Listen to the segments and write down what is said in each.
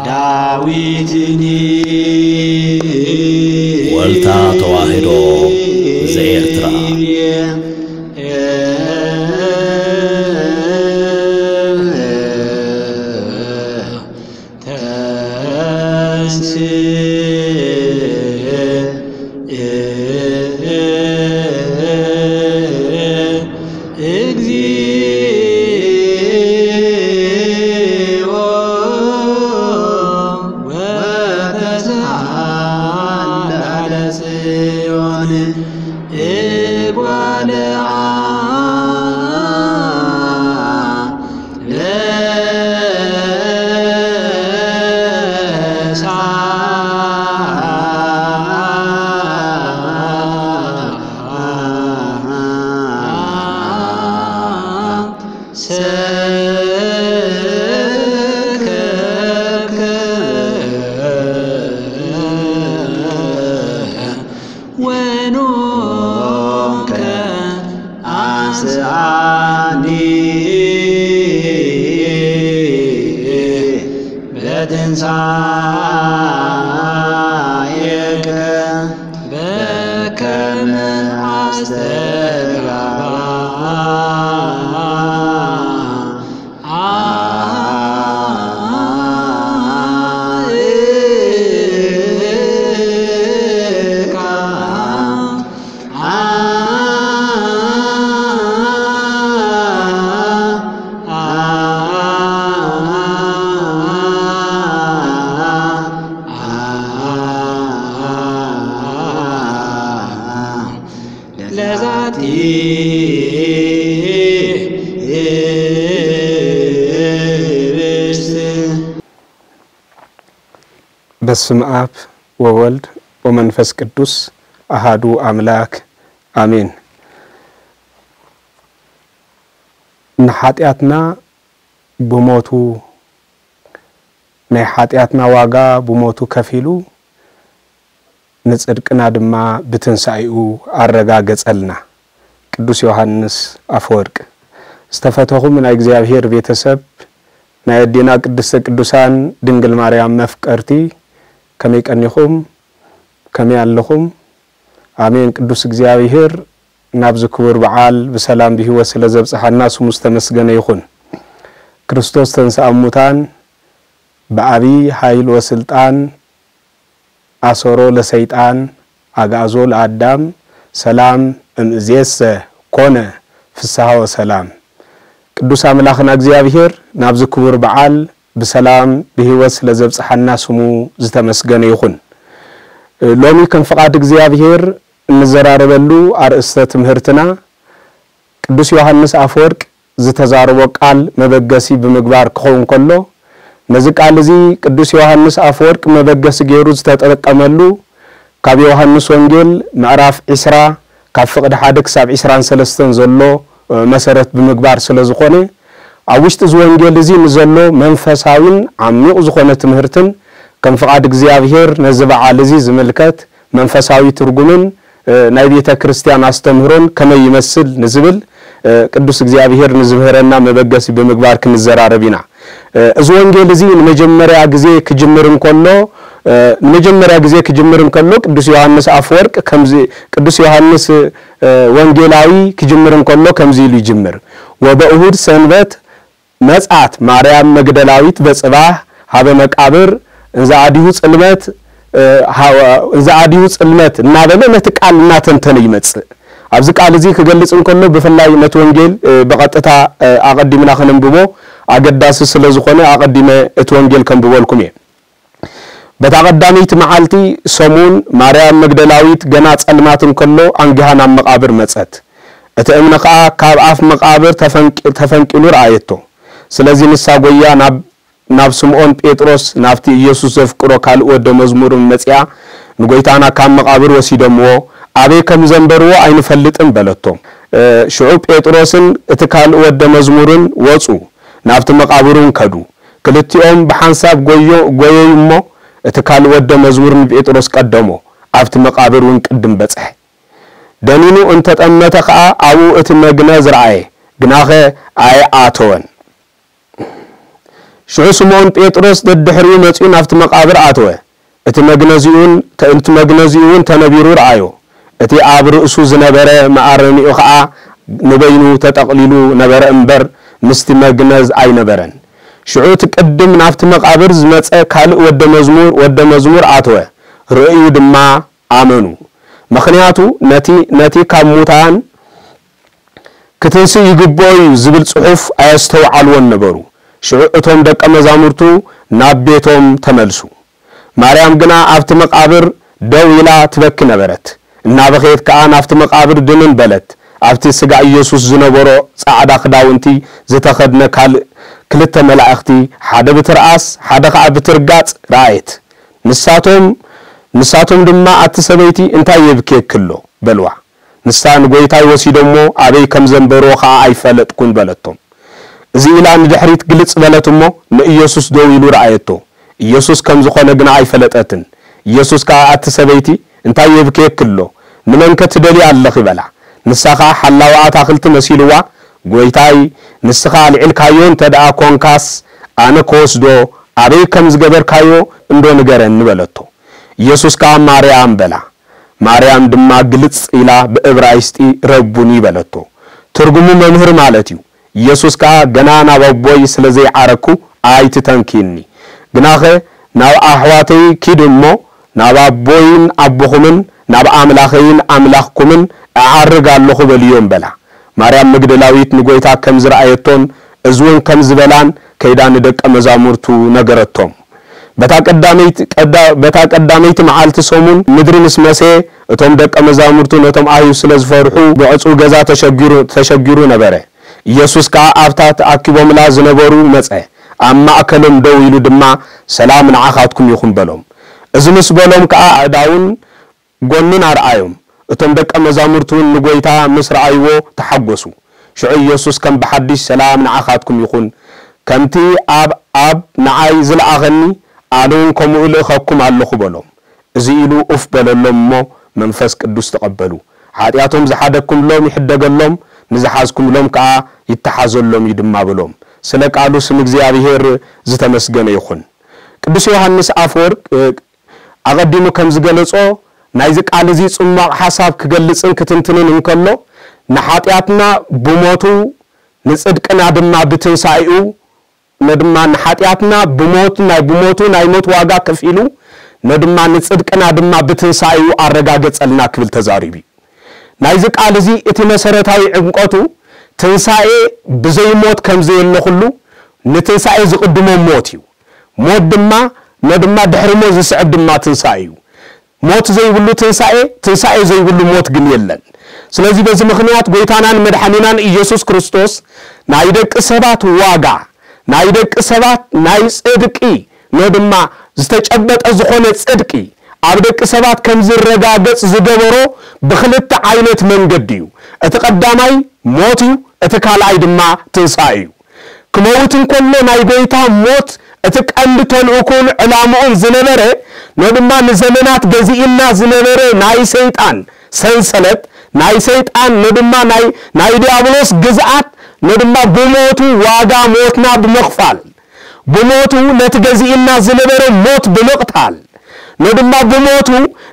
ዳዊትኒ ወልታ ተዋህዶ ዘኤርትራ። እግዚኦ ወተስዓል ላዕለ ጽዮን እጓለ ሰከብከ ወኖከ አንስአኒ በትንሳኤከ በከመ አስተጋባ ለዛቲ ህብስት። በስመ አብ ወወልድ ወመንፈስ ቅዱስ አሃዱ አምላክ አሜን። ንሓጢኣትና ብሞቱ ናይ ሓጢኣትና ዋጋ ብሞቱ ከፊሉ ንጽድቅና ድማ ብትንሳኤኡ ኣረጋገጸልና። ቅዱስ ዮሃንስ ኣፈወርቅ። ዝተፈተኹም ናይ እግዚኣብሔር ቤተሰብ፣ ናይ ኣዴና ቅድስተ ቅዱሳን ድንግል ማርያም መፍቀርቲ፣ ከመይ ቀኒኹም? ከመይ ኣለኹም? ኣሜን። ቅዱስ እግዚኣብሔር ናብዚ ክቡር በዓል ብሰላም ብህይወት ስለ ዘብጽሓና ስሙ ዝተመስገነ ይኹን። ክርስቶስ ተንሥአ እሙታን ብዓቢ ኃይል ወስልጣን አሰሮ ለሰይጣን አግዓዞ ለአዳም ሰላም እምእዜሰ ኮነ ፍስሐ ወሰላም። ቅዱስ ኣምላኽና እግዚኣብሔር ናብዚ ክቡር በዓል ብሰላም ብህይወት ስለ ዘብጽሓና ስሙ ዝተመስገነ ይኹን። ሎሚ ከም ፍቓድ እግዚኣብሔር እንዘራረበሉ ኣርእስተ ትምህርትና ቅዱስ ዮሃንስ ኣፈወርቅ ዝተዛረቦ ቃል መበገሲ ብምግባር ክኸውን ከሎ፣ ነዚ ቃል እዚ ቅዱስ ዮሃንስ ኣፈወርቅ መበገሲ ገይሩ ዝተጠቀመሉ ካብ ዮሃንስ ወንጌል ምዕራፍ ዕስራ ካብ ፍቕዲ ሓደ ክሳብ ዕስራን ሰለስተን ዘሎ መሰረት ብምግባር ስለ ዝኾነ፣ ኣብ ውሽጢ እዚ ወንጌል እዚ ንዘሎ መንፈሳዊን ዓሚቕ ዝኾነ ትምህርትን ከም ፍቓድ እግዚኣብሔር ነዚ በዓል እዚ ዝምልከት መንፈሳዊ ትርጉምን ናይ ቤተ ክርስቲያን ኣስተምህሮን ከመይ ይመስል ንዝብል ቅዱስ እግዚኣብሔር ንዝምህረና መበገሲ ብምግባር ክንዘራረብ ኢና። እዚ ወንጌል እዚ ንመጀመርያ ግዜ ክጅምር እንከሎ ንመጀመርያ ግዜ ክጅምር እንከሎ ቅዱስ ዮሃንስ ኣፈወርቅ ከምዚ ቅዱስ ዮሃንስ ወንጌላዊ ክጅምር እንከሎ ከምዚ ኢሉ ይጅምር። ወበእሁድ ሰንበት መጽኣት ማርያም መግደላዊት በጽባህ ሃበ መቃብር እንዘ አዲሁ ጽልመት እንዘ አዲሁ ጽልመት እናበለ ነቲ ቃል እናተንተነ ይመጽእ። ኣብዚ ቃል እዚ ክገልጽ እንከሎ ብፍላይ ነቲ ወንጌል ብቐጥታ ኣቐዲምና ከነንብቦ ኣገዳሲ ስለ ዝኾነ ኣቐዲመ እቲ ወንጌል ከንብበልኩም እየ። በታ ቀዳመይቲ መዓልቲ ሰሙን ማርያም መግደላዊት ገና ጸልማት እንከሎ ኣንጊሃ ናብ መቓብር መጸት። እቲ እምኒ ኸኣ ካብ ኣፍ መቓብር ተፈንቂ- ተፈንቂሉ ረኣየቶ። ስለዚ ንሳ ጐይያ ናብ ናብ ስምዖን ጴጥሮስ ናብቲ ኢየሱስ ዘፍቅሮ ካልእ ወደ መዝሙርን መጺኣ ንጐይታና ካብ መቓብር ወሲዶምዎ ኣበይ ከም ዘንበርዎ ኣይንፈልጥን በለቶ። ሽዑ ጴጥሮስን እቲ ካልእ ወደ መዝሙርን ወጹ፣ ናብቲ መቓብር እውን ከዱ። ክልቲኦም ብሓንሳብ ጐዮ- ጐየዩ እሞ፣ እቲ ካልእ ወደ መዝሙር ንጴጥሮስ ቀደሞ፣ ኣብቲ መቓብር እውን ቅድም በጽሐ። ደኒኑ እንተ ጠመተ ኸኣ፣ ኣብኡ እቲ መግነዝ ረኣየ፣ ግናኸ ኣይኣተወን። ሽዑ ስምዖን ጴጥሮስ ደድሕሪኡ መጺኡ ናብቲ መቓብር ኣተወ። እቲ መግነዚኡን እቲ መግነዚኡ እውን ተነቢሩ ረኣዮ። እቲ ኣብ ርእሱ ዝነበረ መኣረሚኡ ኸኣ ንበይኑ ተጠቕሊሉ ነበረ እምበር ምስቲ መግነዝ ኣይነበረን። ሽዑ እቲ ቅድም ናብቲ መቓብር ዝመጸ ካልእ ወደ መዝሙር ወደ መዝሙር ኣተወ። ርእዩ ድማ ኣመኑ። ምኽንያቱ ነቲ ነቲ ካብ ሙታን ክትንስእ ይግብኦ እዩ ዝብል ጽሑፍ ኣየስተውዓልዎን ነበሩ። ሽዑ እቶም ደቀ መዛሙርቱ ናብ ቤቶም ተመልሱ። ማርያም ግና ኣብቲ መቓብር ደው ኢላ ትበኪ ነበረት። እናበኸየት ከኣ ናብቲ መቓብር ድንን በለት። ኣብቲ ስጋ ኢየሱስ ዝነበሮ ጻዕዳ ክዳውንቲ ዝተኸድነ ካልእ ክልተ መላእኽቲ፣ ሓደ ብትርኣስ ሓደ ኸኣ ብትርጋጽ ረኣየት። ንሳቶም ንሳቶም ድማ ኣቲ ሰበይቲ እንታይ የብክየኪ ኣሎ በልዋ። ንሳ ንጎይታይ ወሲዶሞ ኣበይ ከም ዘንበርዎ ኸኣ ኣይፈለጥኩን በለቶም። እዚ ኢላ ንድሕሪት ግልጽ በለት እሞ ንኢየሱስ ደው ኢሉ ረኣየቶ። ኢየሱስ ከም ዝኾነ ግና ኣይፈለጠትን። ኢየሱስ ከኣ ኣቲ ሰበይቲ እንታይ የብክየኪ ኣሎ? ንመንከ ትደልያ ኣለኺ በላ። ንሳ ኸኣ ሓላዊ ኣታኽልቲ መሲልዋ ጎይታይ ንስኻ ኣልዒልካዮ እንተ ደኣ ኮንካስ ኣነ ክወስዶ ኣበይ ከም ዝገበርካዮ እንዶ ንገረኒ በለቶ። ኢየሱስ ከኣ ማርያም በላ። ማርያም ድማ ግልጽ ኢላ ብእብራይስጢ ረቡኒ በለቶ። ትርጉሙ መምህር ማለት እዩ። ኢየሱስ ከኣ ገና ናብ ኣቦይ ስለ ዘይዓረግኩ ኣይትተንክይኒ። ግናኸ ናብ ኣሕዋተይ ኪድ እሞ ናብ ኣቦይን ኣቦኹምን ናብ ኣምላኸይን ኣምላኽኩምን እዓርግ ኣለኹ በልዮም በላ። ማርያም መግደላዊት ንጎይታ ከም ዝረኣየቶን እዚ እውን ከም ዝበላን ከይዳ ንደቀ መዛሙርቱ ነገረቶም። በታ ቀዳመይቲ ቀዳ- በታ ቀዳመይቲ መዓልቲ ሰሙን ምድሪ ምስ መሰየ እቶም ደቀ መዛሙርቱ ነቶም ኣይሁድ ስለ ዝፈርሑ ብዕጹው ገዛ ተሸጊሩ ተሸጊሩ ነበረ። ኢየሱስ ከኣ ኣብታ ተኣኪቦምላ ዝነበሩ መጸ። ኣብ ማእከሎም ደው ኢሉ ድማ ሰላም ንዓኻትኩም ይኹን በሎም። እዚ ምስ በሎም ከኣ ኣእዳውን ጎኑን ኣርኣዮም። እቶም ደቀ መዛሙርቱ እውን ንጎይታ ምስ ረኣይዎ ተሓጎሱ። ሽዑ ኢየሱስ ከም ብሓድሽ ሰላም ንዓኻትኩም ይኹን፣ ከምቲ ኣብ ኣብ ንዓይ ዝለኣኸኒ ኣነ እውን ከምኡ እልእኸኩም ኣለኹ በሎም። እዚ ኢሉ ኡፍ በለሎም እሞ መንፈስ ቅዱስ ተቐበሉ። ሓጢኣቶም ዝሓደግኩምሎም ይሕደገሎም፣ ንዝሓዝኩምሎም ከኣ ይተሓዘሎም እዩ ድማ በሎም። ስለ ቃሉ ስም እግዚኣብሔር ዝተመስገነ ይኹን። ቅዱስ ዮሃንስ ኣፈወርቅ ኣቐዲሙ ከም ዝገለጾ ናይዚ ቃል እዚ ጽሟቕ ሓሳብ ክገልጽን ክትንትንን እንከሎ ንሓጢኣትና ብሞቱ ንጽድቅና ድማ ብትንሳኤኡ ነድማ ንሓጢኣትና ብሞት ናይ ብሞቱ ናይ ሞት ዋጋ ከፊሉ ነድማ ንጽድቅና ድማ ብትንሳኤኡ ኣረጋገጸልና ክብል ተዛሪቡ እዩ። ናይዚ ቃል እዚ እቲ መሰረታዊ ዕምቆቱ ትንሳኤ ብዘይሞት ከም ዘየለ ኩሉ ንትንሳኤ ዝቕድሞ ሞት እዩ። ሞት ድማ ነድማ ድሕሪ ሞት ዝስዕብ ድማ ትንሳኤ እዩ። ሞት ዘይብሉ ትንሳኤ ትንሳኤ ዘይብሉ ሞት ግን የለን። ስለዚህ በዚ ምኽንያት ጎይታናን መድሓኒናን ኢየሱስ ክርስቶስ ናይ ደቂ ሰባት ዋጋ ናይ ደቂ ሰባት ናይ ጽድቂ ኖ ድማ ዝተጨበጠ ዝኾነ ጽድቂ ኣብ ደቂ ሰባት ከም ዝረጋገጽ ዝገበሮ ብኽልተ ዓይነት መንገዲ እዩ። እቲ ቀዳማይ ሞት እዩ፣ እቲ ካልኣይ ድማ ትንሳኤ እዩ። ክመውት እንከሎ ናይ ጎይታ ሞት እቲ ቀንዲ ተልእኮን ዕላምኡን ዝነበረ ኖ ድማ ንዘመናት ገዚእና ዝነበረ ናይ ሰይጣን ሰንሰለት ናይ ሰይጣን ኖ ድማ ናይ ናይ ዲያብሎስ ግዝኣት ኖ ድማ ብሞቱ ዋጋ ሞትና ብምኽፋል ብሞቱ ነቲ ገዚእና ዝነበረ ሞት ብምቕታል ኖ ድማ ብሞቱ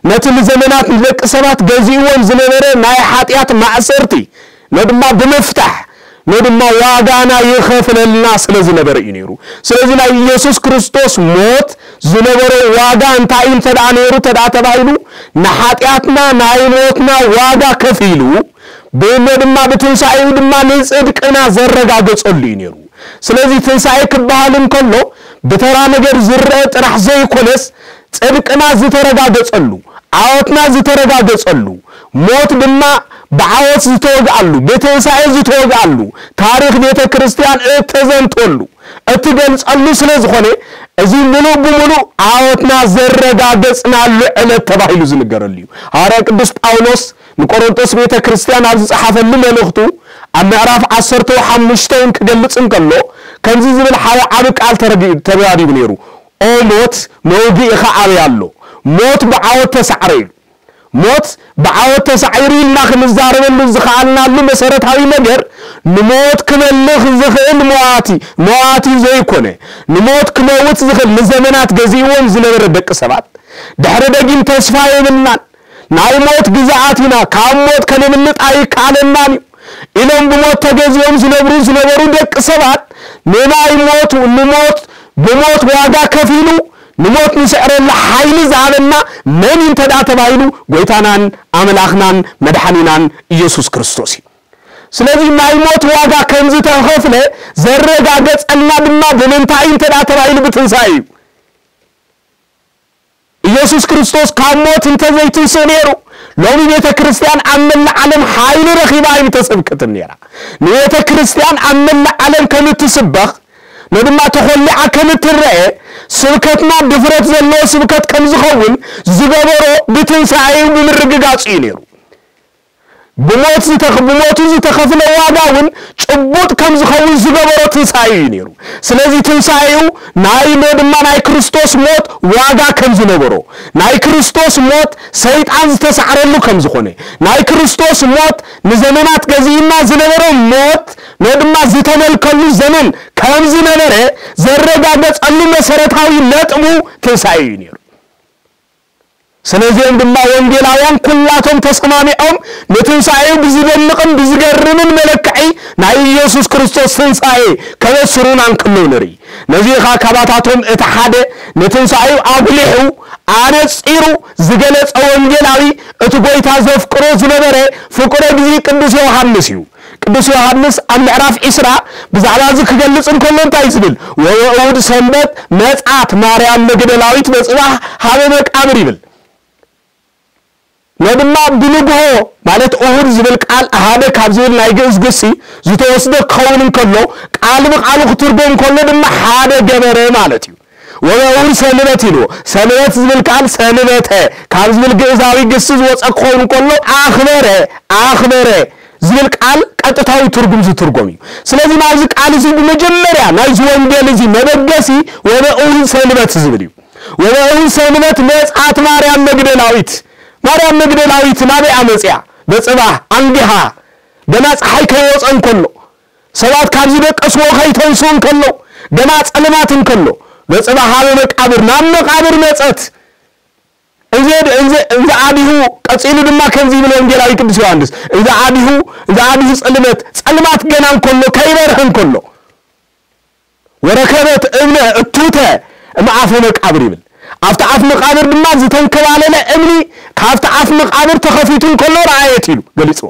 ነቲ ንዘመናት ንደቂ ሰባት ገዚእዎም ዝነበረ ናይ ሓጢኣት ማእሰርቲ ኖ ድማ ብምፍታሕ ኖ ድማ ዋጋና ይኸፍለልና ስለ ዝነበረ እዩ ነይሩ። ስለዚ ናይ ኢየሱስ ክርስቶስ ሞት ዝነበሮ ዋጋ እንታይ እዩ እንተ ደኣ ነይሩ እንተ ደኣ ተባሂሉ ንሓጢኣትና ናይ ሞትና ዋጋ ከፊሉ ብኖ ድማ ብትንሳኤኡ ድማ ንጽድቅና ዘረጋገጸሉ እዩ ነይሩ። ስለዚ ትንሳኤ ክበሃል እንከሎ ብተራ ነገር ዝረአ ጥራሕ ዘይኮነስ ጽድቅና ዝተረጋገጸሉ ዓወትና ዝተረጋገጸሉ ሞት ድማ ብዓወት ዝተወግኣሉ ብትንሳኤ ዝተወግኣሉ ታሪኽ ቤተ ክርስቲያን እተዘንተሉ እትገልጸሉ ስለ ዝኾነ እዚ ምሉእ ብምሉእ ዓወትና ዘረጋገጽናሉ ዕለት ተባሂሉ ዝንገረሉ እዩ። ሃዋርያ ቅዱስ ጳውሎስ ንቆሮንቶስ ቤተ ክርስቲያን ኣብ ዝጸሓፈሉ መልእኽቱ ኣብ ምዕራፍ ዓሰርተ ሓሙሽተ እውን ክገልጽ እንከሎ ከምዚ ዝብል ሓደ ዓቢ ቃል ተረዲ- ተዛሪቡ ነይሩ። ኦ ሞት መውግኢኻ ኣበይ ኣሎ? ሞት ብዓወት ተሳዕረ ኢሉ። ሞት ብዓወት ተሳዒሩ ኢልና ክንዛረበሉ ዝኸኣልናሉ መሰረታዊ ነገር፣ ንሞት ክመልኽ ዝኽእል መዋቲ መዋቲ ዘይኮነ፣ ንሞት ክመውት ዝኽእል፣ ንዘመናት ገዚእዎም ዝነበረ ደቂ ሰባት፣ ድሕሪ ደጊም ተስፋ የብልናን፣ ናይ ሞት ግዛኣት ኢና፣ ካብ ሞት ከነምልጥ ኣይከኣለናን እዩ ኢሎም ብሞት ተገዚኦም ዝነብሩ ዝነበሩ ደቂ ሰባት፣ ንናይ ሞት ንሞት ብሞት ዋጋ ከፊሉ ንሞት ንስዕረሉ ሓይሊ ዝሃበና መን እዩ እንተ ደኣ ተባሂሉ፣ ጎይታናን ኣምላኽናን መድሓኒናን ኢየሱስ ክርስቶስ እዩ። ስለዚ ናይ ሞት ዋጋ ከም ዝተኸፍለ ዘረጋገጸልና ድማ ብምንታይ እዩ እንተ ደኣ ተባሂሉ፣ ብትንሳኤ እዩ። ኢየሱስ ክርስቶስ ካብ ሞት እንተ ዘይትንስእ ነይሩ፣ ሎሚ ቤተ ክርስቲያን ኣብ መላእ ዓለም ሓይሊ ረኺባ ኣይምተሰብከትን ነይራ። ንቤተ ክርስቲያን ኣብ መላእ ዓለም ከም እትስበኽ፣ ንድማ ተኾሊዓ ከም እትረአ፣ ስብከትና ድፍረት ዘለዎ ስብከት ከም ዝኸውን ዝገበሮ ብትንሳኤኡ ብምርግጋጹ እዩ ነይሩ። ብሞት ዝተኽ-፣ ብሞቱ ዝተኸፍለ ዋጋ እውን ጭቡጥ ከም ዝኸውን ዝገበሮ ትንሳኤ እዩ ነይሩ። ስለዚ ትንሳኤኡ ናይ ዶ ድማ ናይ ክርስቶስ ሞት ዋጋ ከም ዝነበሮ፣ ናይ ክርስቶስ ሞት ሰይጣን ዝተሳዕረሉ ከም ዝኾነ፣ ናይ ክርስቶስ ሞት ንዘመናት ገዚእና ዝነበረ ሞት ዶ ድማ ዝተመልከሉ ዘመን ከም ዝነበረ ዘረጋገጸሉ መሰረታዊ ነጥቡ ትንሳኤ እዩ ነይሩ። ስለዚኦም ድማ ወንጌላውያን ኩላቶም ተሰማሚዖም ንትንሳኤኡ ብዝደንቕን ብዝገርምን መለክዒ ናይ ኢየሱስ ክርስቶስ ትንሳኤ ከበስሩና እንከለዉ ንርኢ። ነዚ ኸኣ ካባታቶም እቲ ሓደ ንትንሳኤኡ ኣጉሊሑ ኣነጺሩ ዝገለጸ ወንጌላዊ እቲ ጐይታ ዘፍቅሮ ዝነበረ ፍቁረ እግዚእ ቅዱስ ዮሃንስ እዩ። ቅዱስ ዮሃንስ ኣብ ምዕራፍ ዒስራ ብዛዕባ እዚ ክገልጽ እንከሎ እንታይ ዝብል? "ወበእሁድ ሰንበት መጽኣት ማርያም መግደላዊት በጽባሕ ሀበ መቃብር" ይብል። ነድማ ብንግሆ ማለት እሁድ ዝብል ቃል ሓደ ካብ ዝብል ናይ ግእዝ ግሲ ዝተወስደ ክኸውን እንከሎ፣ ቃል ብቃሉ ክትርጎም እንከሎ ድማ ሓደ ገበረ ማለት እዩ። "ወበእሁድ ሰንበት" ኢልዎ። ሰንበት ዝብል ቃል ሰንበተ ካብ ዝብል ግእዛዊ ግሲ ዝወጸ ክኸውን እንከሎ፣ ኣኽበረ፣ ኣኽበረ ዝብል ቃል ቀጥታዊ ትርጉም ዝትርጎም እዩ። ስለዚ ናብዚ ቃል እዚ ብመጀመርያ ናይዚ ወንጌል እዚ መበገሲ "ወበእሁድ ሰንበት" ዝብል እዩ። "ወበእሁድ ሰንበት መጽኣት ማርያም መግደላዊት"። ማርያም መግደላዊት ናበይ ኣመጽያ? በጽባሕ ኣንጊሃ፣ ገና ጸሓይ ከይወጸ እንከሎ፣ ሰባት ካብ ዝደቀስዎ ከይተንስኡ እንከሎ፣ ገና ጸልማት እንከሎ፣ በጽባሕ ኣብ መቃብር፣ ናብ መቃብር መጸት። እንዘ-፣ እንዘ-፣ እንዘ ኣዲሁ፣ ቀጺሉ ድማ ከምዚ ይብል ወንጌላዊ ቅዱስ ዮሃንስ፣ "እንዘ ኣዲሁ፣ እንዘ ኣዲሁ ጸልመት፣ ጸልማት ገና እንከሎ፣ ከይበርሀ እንከሎ፣ ወረከበት እምነ እቱተ እምኣፈ መቃብር" ይብል። ኣብቲ ኣፍ መቃብር ድማ ዝተንከባለለ እምኒ ካብቲ ኣፍ መቃብር ተኸፊቱ እንከሎ ረኣየት ኢሉ ገሊጽዎ።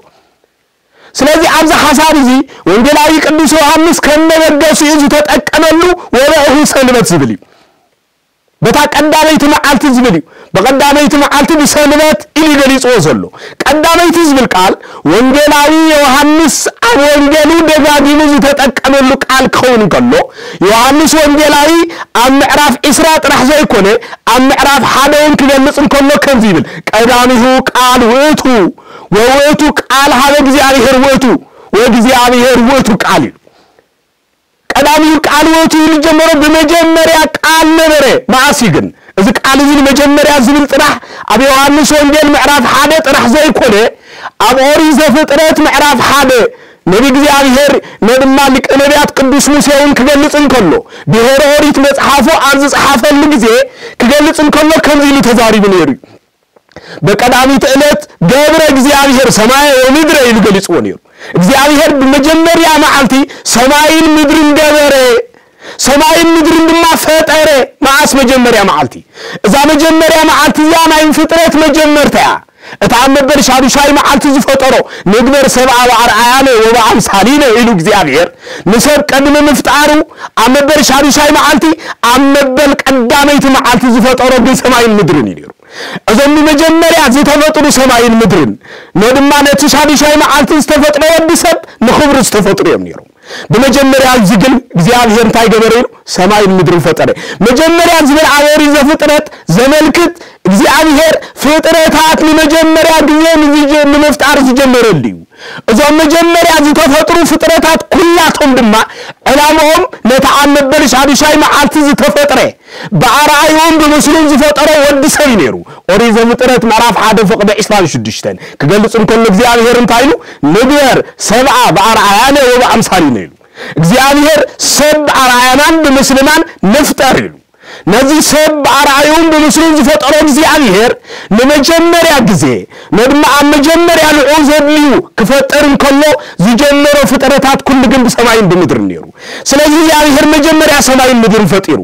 ስለዚ ኣብዚ ሓሳብ እዚ ወንጌላዊ ቅዱስ ዮሃንስ ከም መበገሲኡ ዝተጠቀመሉ "ወበእሁድ ሰንበት" ዝብል እዩ። በታ ቀዳመይቲ መዓልቲ ዝብል እዩ። ብቐዳመይቲ መዓልቲ ብሰንበት ኢሉ ገሊጽዎ ዘሎ። ቀዳመይቲ ዝብል ቃል ወንጌላዊ ዮሃንስ ኣብ ወንጌሉ ደጋጊሙ ዝተጠቀመሉ ቃል ክኸውን እንከሎ፣ ዮሃንስ ወንጌላዊ ኣብ ምዕራፍ ዒስራ ጥራሕ ዘይኮነ፣ ኣብ ምዕራፍ ሓደ እውን ክገልጽ እንከሎ ከምዚ ይብል፣ "ቀዳሚሁ ቃል ውእቱ፣ ወውእቱ ቃል ሀበ እግዚኣብሔር ውእቱ፣ ወእግዚኣብሔር ውእቱ ቃል" እዩ። ቀዳሚሁ ቃል ውእቱ ኢሉ ጀመሮ፣ ብመጀመርያ ቃል ነበረ። መዓስ እዩ ግን? እዚ ቃል እዚ ንመጀመርያ ዝብል ጥራሕ ኣብ ዮሃንስ ወንጌል ምዕራፍ ሓደ ጥራሕ ዘይኮነ፣ ኣብ ኦሪት ዘፍጥረት ምዕራፍ ሓደ ነቢ እግዚኣብሔር ነድማ ሊቀ ነቢያት ቅዱስ ሙሴ እውን ክገልጽ እንከሎ፣ ድሕሪ ኦሪት መጽሓፉ ኣብ ዝጸሓፈሉ ግዜ ክገልጽ እንከሎ ከምዚ ኢሉ ተዛሪቡ ነይሩ እዩ። "በቀዳሚት ዕለት ገብረ እግዚኣብሔር ሰማየ ወምድረ" ኢሉ ገሊጽዎ ነይሩ። እግዚኣብሔር ብመጀመርያ መዓልቲ ሰማይን ምድርን ገበረ፣ ሰማይን ምድርን ድማ ፈጠረ። መዓስ መጀመርያ መዓልቲ? እዛ መጀመርያ መዓልቲ እዚኣ ናይ ፍጥረት መጀመርታ እያ። እታ ኣብ መበል ሻዱሻይ መዓልቲ ዝፈጠሮ፣ "ንግበር ሰብኣ በኣርኣያነ ወበኣምሳሊነ" ኢሉ እግዚኣብሔር ንሰብ ቀድሚ ምፍጣሩ ኣብ መበል ሻዱሻይ መዓልቲ፣ ኣብ መበል ቀዳመይቲ መዓልቲ ዝፈጠሮ ግን ሰማይን ምድርን እዩ ነይሩ። እዞም ብመጀመርያ ዝተፈጥሩ ሰማይን ምድርን፣ ነድማ ነቲ ሻዱሻይ መዓልቲ ዝተፈጥረ ወዲ ሰብ ንኽብሩ ዝተፈጥሩ እዮም ነይሮም። ብመጀመርያ እዚ ግን እግዚኣብሔር እንታይ ገበረ ኢሉ? ሰማይን ምድርን ፈጠረ። መጀመርያ ዝብል ኣብ ኦሪት ዘፍጥረት ዘመልክት እግዚኣብሔር ፍጥረታት ንመጀመርያ ግዜ ንዝጀ-፣ ንምፍጣር ዝጀመረሉ እዩ። እዞም መጀመርያ ዝተፈጥሩ ፍጥረታት ኩላቶም ድማ ዕላምኦም ነቲ ኣብ መበል ሻዱሻይ መዓልቲ ዝተፈጥረ ብኣርኣይኡን ብምስሉን ዝፈጠሮ ወዲ ሰብ እዩ ነይሩ። ኦሪት ዘፍጥረት ምዕራፍ ሓደ ፍቕዲ ዕስራን ሽዱሽተን ክገልጽ እንከሎ እግዚኣብሔር እንታይ ኢሉ? "ንግበር ሰብኣ ብኣርኣያነ ወብኣምሳሊነ" ኢሉ። እግዚኣብሔር "ሰብ ብኣርኣያናን ብምስልናን ንፍጠር" ኢሉ። ነዚ ሰብ ብኣርኣይኡን ብምስሉን ዝፈጠሮ እግዚኣብሔር ንመጀመርያ ግዜ፣ ነድማ ኣብ መጀመርያ ንዕኡ ዘድልዩ ክፈጥር እንከሎ ዝጀመሮ ፍጥረታት ኩሉ ግን ብሰማይን ብምድርን ነይሩ። ስለዚ እግዚኣብሔር መጀመርያ ሰማይን ምድርን ፈጢሩ።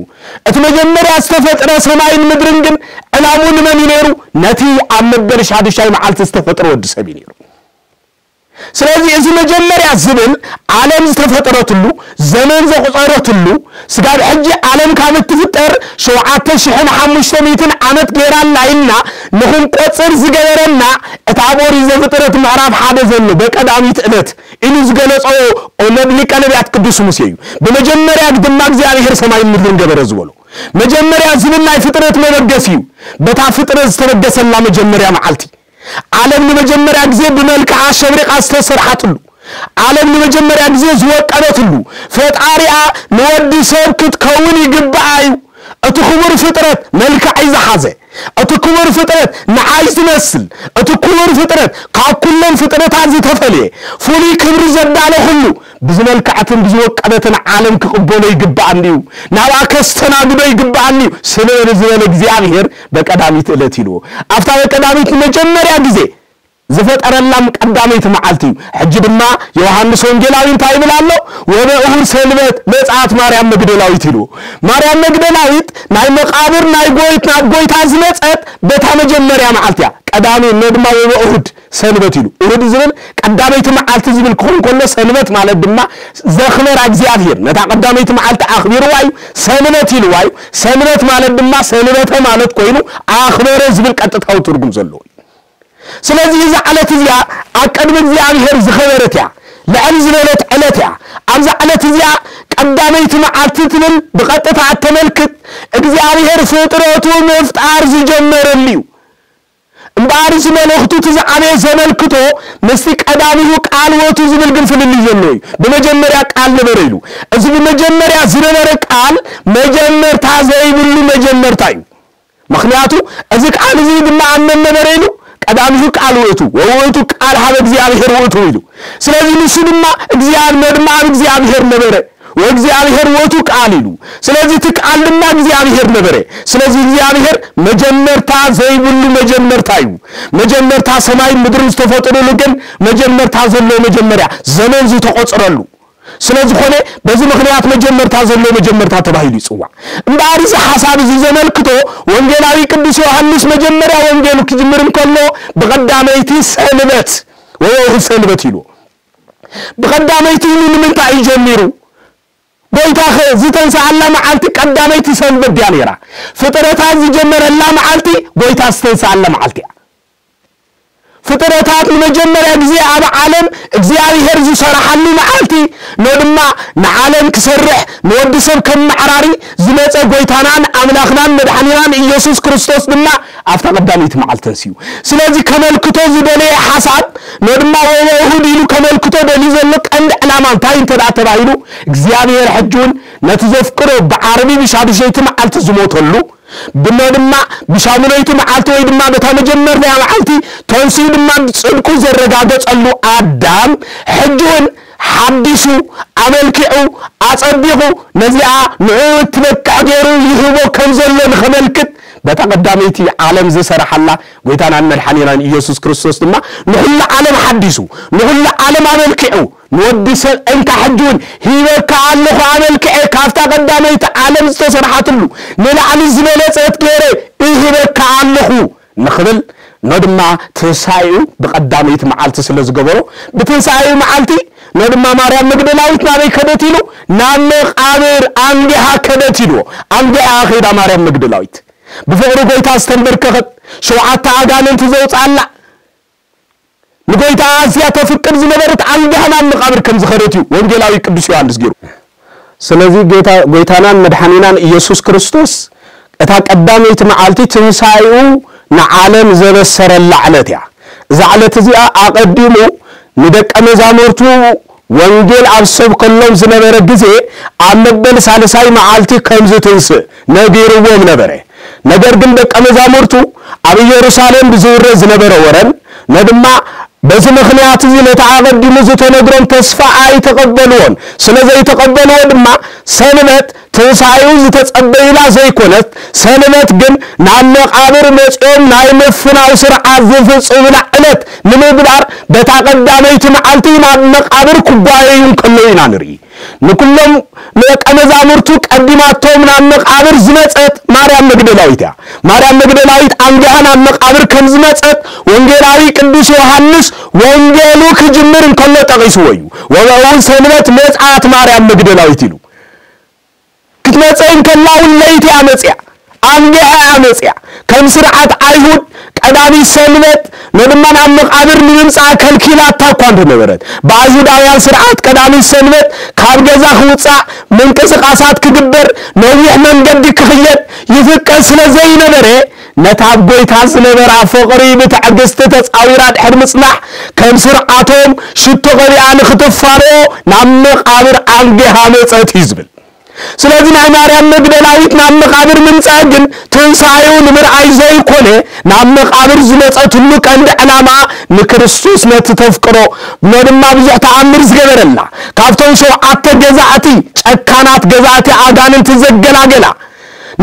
እቲ መጀመርያ ዝተፈጥረ ሰማይን ምድርን ግን ዕላሙ ንመን እዩ ነይሩ? ነቲ ኣብ መበል ሻዱሻይ መዓልቲ ዝተፈጥረ ወዲ ሰብ እዩ ነይሩ። ስለዚ እዚ መጀመርያ ዝብል ዓለም ዝተፈጠረትሉ፣ ዘመን ዘቑጸረትሉ፣ ስጋብ ሕጂ ዓለም ካብ እትፍጠር ሸውዓተ ሽሕን ሓሙሽተ ሚእትን ዓመት ገይራና ኢልና ንኽንቆጽር ዝገበረና፣ እቲ ኣብ ኦሪት ዘፍጥረት ምዕራፍ ሓደ ዘሎ በቀዳሚት ዕለት ኢሉ ዝገለጾ ሊቀ ነቢያት ቅዱስ ሙሴ እዩ። ብመጀመርያ ድማ እግዚኣብሔር ሰማይን ምድርን ገበረ ዝበሎ። መጀመርያ ዝብል ናይ ፍጥረት መበገሲ እዩ። በታ ፍጥረት ዝተበገሰላ መጀመርያ መዓልቲ ዓለም ንመጀመርያ ግዜ ብመልክዓ ሸብሪቓ ዝተሰርሓትሉ፣ ዓለም ንመጀመርያ ግዜ ዝወቀበትሉ፣ ፈጣሪኣ ንወዲ ሰብ ክትከውን ይግብኣ እዩ። እቲ ክቡር ፍጥረት መልክዐይ ዝሓዘ፣ እቲ ክቡር ፍጥረት ንዓይ ዝመስል፣ እቲ ክቡር ፍጥረት ካብ ኩሎም ፍጥረታት ዝተፈልየ፣ ፍሉይ ክብሪ ዘዳለኹሉ፣ ብዝመልክዐትን ብዝወቀበትን ዓለም ክቕበሎ ይግብኣኒ እዩ፣ ናብኣ ከስተናግዶ ይግብኣኒ እዩ ስለ ዝበለ እግዚኣብሔር በቀዳሚት ዕለት ኢልዎ። ኣብታ በቀዳሚት ንመጀመርያ ግዜ ዝፈጠረላም ቀዳመይቲ መዓልቲ እዩ። ሕጂ ድማ ዮሃንስ ወንጌላዊ እንታይ ይብል ኣሎ? "ወበእሁድ ሰንበት መጽኣት ማርያም መግደላዊት" ኢሉ። ማርያም መግደላዊት ናይ መቃብር ናይ ጎይት ናብ ጎይታ ዝመጸት በታ መጀመርያ መዓልቲ እያ። ቀዳሚ እሞ ድማ ወበእሁድ ሰንበት ኢሉ። እሁድ ዝብል ቀዳመይቲ መዓልቲ ዝብል ክኸውን ከሎ፣ ሰንበት ማለት ድማ ዘኽበራ እግዚኣብሔር ነታ ቀዳመይቲ መዓልቲ ኣኽቢርዋ እዩ፣ ሰንበት ኢልዋ እዩ። ሰንበት ማለት ድማ ሰንበተ ማለት ኮይኑ ኣኽበረ ዝብል ቀጥታዊ ትርጉም ዘለዎ እዩ። ስለዚ እዛ ዕለት እዚኣ ኣብ ቅድሚ እግዚኣብሔር ዝኸበረት እያ፣ ልዕል ዝበለት ዕለት እያ። ኣብዛ ዕለት እዚኣ ቀዳመይቲ መዓልቲ ትብል ብቐጥታ እተመልክት እግዚኣብሔር ፍጥረቱ ምፍጣር ዝጀመረሉ እዩ። እምበኣር እዚ መልእኽቱ እቲ ዝዓበየ ዘመልክቶ ምስቲ ቀዳሚሁ ቃል ውእቱ ዝብል ግን ፍልልይ ዘለዎ እዩ። ብመጀመርያ ቃል ነበረ ኢሉ። እዚ ብመጀመርያ ዝነበረ ቃል መጀመርታ ዘይብሉ መጀመርታ እዩ። ምኽንያቱ እዚ ቃል እዚ ድማ ኣብ መን ነበረ ኢሉ? ቀዳሚሁ ቃል ውእቱ፣ ወውእቱ ቃል ሀበ እግዚኣብሔር ውእቱ ኢሉ። ስለዚ ንሱ ድማ እግዚኣብሔር፣ ድማ ኣብ እግዚኣብሔር ነበረ፣ ወእግዚኣብሔር ውእቱ ቃል ኢሉ። ስለዚ እቲ ቃል ድማ እግዚኣብሔር ነበረ። ስለዚ እግዚኣብሔር መጀመርታ ዘይብሉ መጀመርታ እዩ። መጀመርታ ሰማይን ምድርን ዝተፈጠረሉ ግን መጀመርታ ዘሎ መጀመርያ ዘመን ዝተቖጽረሉ ስለ ዝኾነ በዚ ምኽንያት መጀመርታ ዘሎ መጀመርታ ተባሂሉ ይጽዋዕ። እምበኣር እዚ ሓሳብ እዚ ዘመልክቶ ወንጌላዊ ቅዱስ ዮሃንስ መጀመርያ ወንጌሉ ክጅምር እንከሎ ብቐዳመይቲ ሰንበት ወወእሁድ ሰንበት ኢሉ። ብቐዳመይቲ ኢሉ ንምንታይ እዩ ጀሚሩ? ጎይታ ኸ ዝተንስኣላ መዓልቲ ቀዳመይቲ ሰንበት ድያ ነይራ? ፍጥረታት ዝጀመረላ መዓልቲ ጎይታ ዝተንስኣላ መዓልቲ እያ። ፍጥረታት ንመጀመርያ ግዜ ኣብ ዓለም እግዚኣብሔር ዝሰርሓሉ መዓልቲ ኖ ድማ ንዓለም ክሰርሕ ንወዲ ሰብ ከመዓራሪ ዝመጸ ጎይታናን ኣምላኽናን መድሓኒናን ኢየሱስ ክርስቶስ ድማ ኣብታ ቀዳመይቲ መዓልቲ ተንስዩ። ስለዚ ከመልክቶ ዝደለየ ሓሳብ ኖ ድማ ወወእሁድ ኢሉ ከመልክቶ ደልዩ ዘሎ ቀንዲ ዕላማ እንታይ እንተ ደኣ ተባሂሉ እግዚኣብሔር ሕጂ እውን ነቲ ዘፍቅሮ ብዓርቢ ብሻዱሸይቲ መዓልቲ ዝሞተሉ ብኖ ድማ ብሻሙነይቲ መዓልቲ ወይ ድማ በታ መጀመርያ መዓልቲ ተንስኡ ድማ ጽድቁ ዘረጋገጸሉ ኣዳም ሕጂ እውን ሓዲሱ ኣመልኪዑ ኣጸቢቑ ነዚኣ ንዕኡ እትበቅዕ ገይሩ ይህቦ ከም ዘሎ ንኸመልክት በታ ቀዳመይቲ ዓለም ዝሰረሓላ ጎይታናን መድሓኒናን ኢየሱስ ክርስቶስ ድማ ንኹሉ ዓለም ሓዲሱ ንኹሉ ዓለም ኣመልኪዑ ንወዲ ሰብ እንካ ሕጂ እውን ሂበካ ኣለኹ ኣመልክዐ ካብታ ቀዳመይቲ ዓለም ዝተሰርሓትሉ ንላዕሊ ዝበለጸት ገይረ እህበካ ኣለኹ ንኽብል ኖ ድማ ትንሳኤኡ ብቐዳመይቲ መዓልቲ ስለ ዝገበሮ ብትንሳኤኡ መዓልቲ ኖ ድማ ማርያም መግደላዊት ናበይ ከደት ኢሉ ናብ መቓብር ኣንጊሃ ከደት ኢልዎ ኣንጊሃ ኸይዳ ማርያም መግደላዊት ብፍቕሪ ጎይታ ዝተንበርከኸት ሸውዓተ ኣጋንንቲ ዘውፅኣላ ንጎይታ ኣዝያ ተፍቅር ዝነበረት ኣንጊሃ ናብ መቓብር ከም ዝኸደት እዩ ወንጌላዊ ቅዱስ ዮሃንስ ገይሩ። ስለዚ ጌታ ጎይታናን መድሓኒናን ኢየሱስ ክርስቶስ እታ ቀዳመይቲ መዓልቲ ትንሳኤኡ ንዓለም ዘበሰረላ ዕለት እያ። እዛ ዕለት እዚኣ ኣቐዲሙ ንደቀ መዛሙርቱ ወንጌል ኣብ ዝሰብከሎም ዝነበረ ግዜ ኣብ መበል ሳልሳይ መዓልቲ ከም ዝትንስእ ነጊርዎም ነበረ። ነገር ግን ደቀ መዛሙርቱ ኣብ ኢየሩሳሌም ብዝውረ ዝነበረ ወረን ነድማ በዚ ምኽንያት እዚ ነቲ ኣቐዲሙ ዝተነግሮም ተስፋ ኣይተቐበልዎን። ስለ ዘይተቐበልዎ ድማ ሰንበት ትንሳኤኡ ዝተጸበዩላ ዘይኮነት፣ ሰንበት ግን ናብ መቓብር መጺኦም ናይ ምፍናው ስርዓት ዝፍጽሙላ ዕለት ንምግባር በታ ቀዳመይቲ መዓልቲ ናብ መቓብር ክጓየዩ እንከለዉ ኢና ንርኢ። ንኩሎም ደቀ መዛሙርቱ ቀዲማቶም ናብ መቓብር ዝመጸት ማርያም መግደላዊት እያ። ማርያም መግደላዊት ኣንጊሃ ናብ መቓብር ከም ዝመጸት ወንጌላዊ ቅዱስ ዮሃንስ ወንጌሉ ክጅምር እንከሎ ጠቒስዎ እዩ። ወበእውን ሰንበት መጽኣት ማርያም መግደላዊት ኢሉ። ክትመጽእ እንከላ እውን ለይቲ እያ መጽያ፣ ኣንጊሃ እያ መጽያ። ከም ስርዓት ኣይሁድ ቀዳሚት ሰንበት ንድማ ናብ መቓብር ንምምጻእ ከልኪላታ እኳ እንተነበረት፣ ብኣይሁዳውያን ስርዓት ቀዳሚት ሰንበት ካብ ገዛ ክውጻእ፣ ምንቅስቓሳት ክግበር፣ ነዊሕ መንገዲ ክኽየድ ይፍቀድ ስለ ዘይነበረ፣ ነታ ኣብ ጐይታ ዝነበራ ፍቕሪ ብትዕግስቲ ተጻዊራ ድሕሪ ምጽናሕ፣ ከም ስርዓቶም ሽቶ ቀቢኣ ንኽትፋንዎ ናብ መቓብር ኣንጊሃ መጸት እዩ ዝብል። ስለዚ ናይ ማርያም መግደላዊት ናብ መቓብር ምምጻእ ግን ትንሳኤኡ ንምርኣይ ዘይኮነ፣ ናብ መቓብር ዝመጸትሉ ቀንዲ ዕላማ ንክርስቶስ ነቲ ተፍቅሮ ብሎ ድማ ብዙሕ ተኣምር ዝገበረላ፣ ካብቶም ሸውዓተ ገዛእቲ ጨካናት ገዛእቲ ኣጋንንቲ ዘገላገላ፣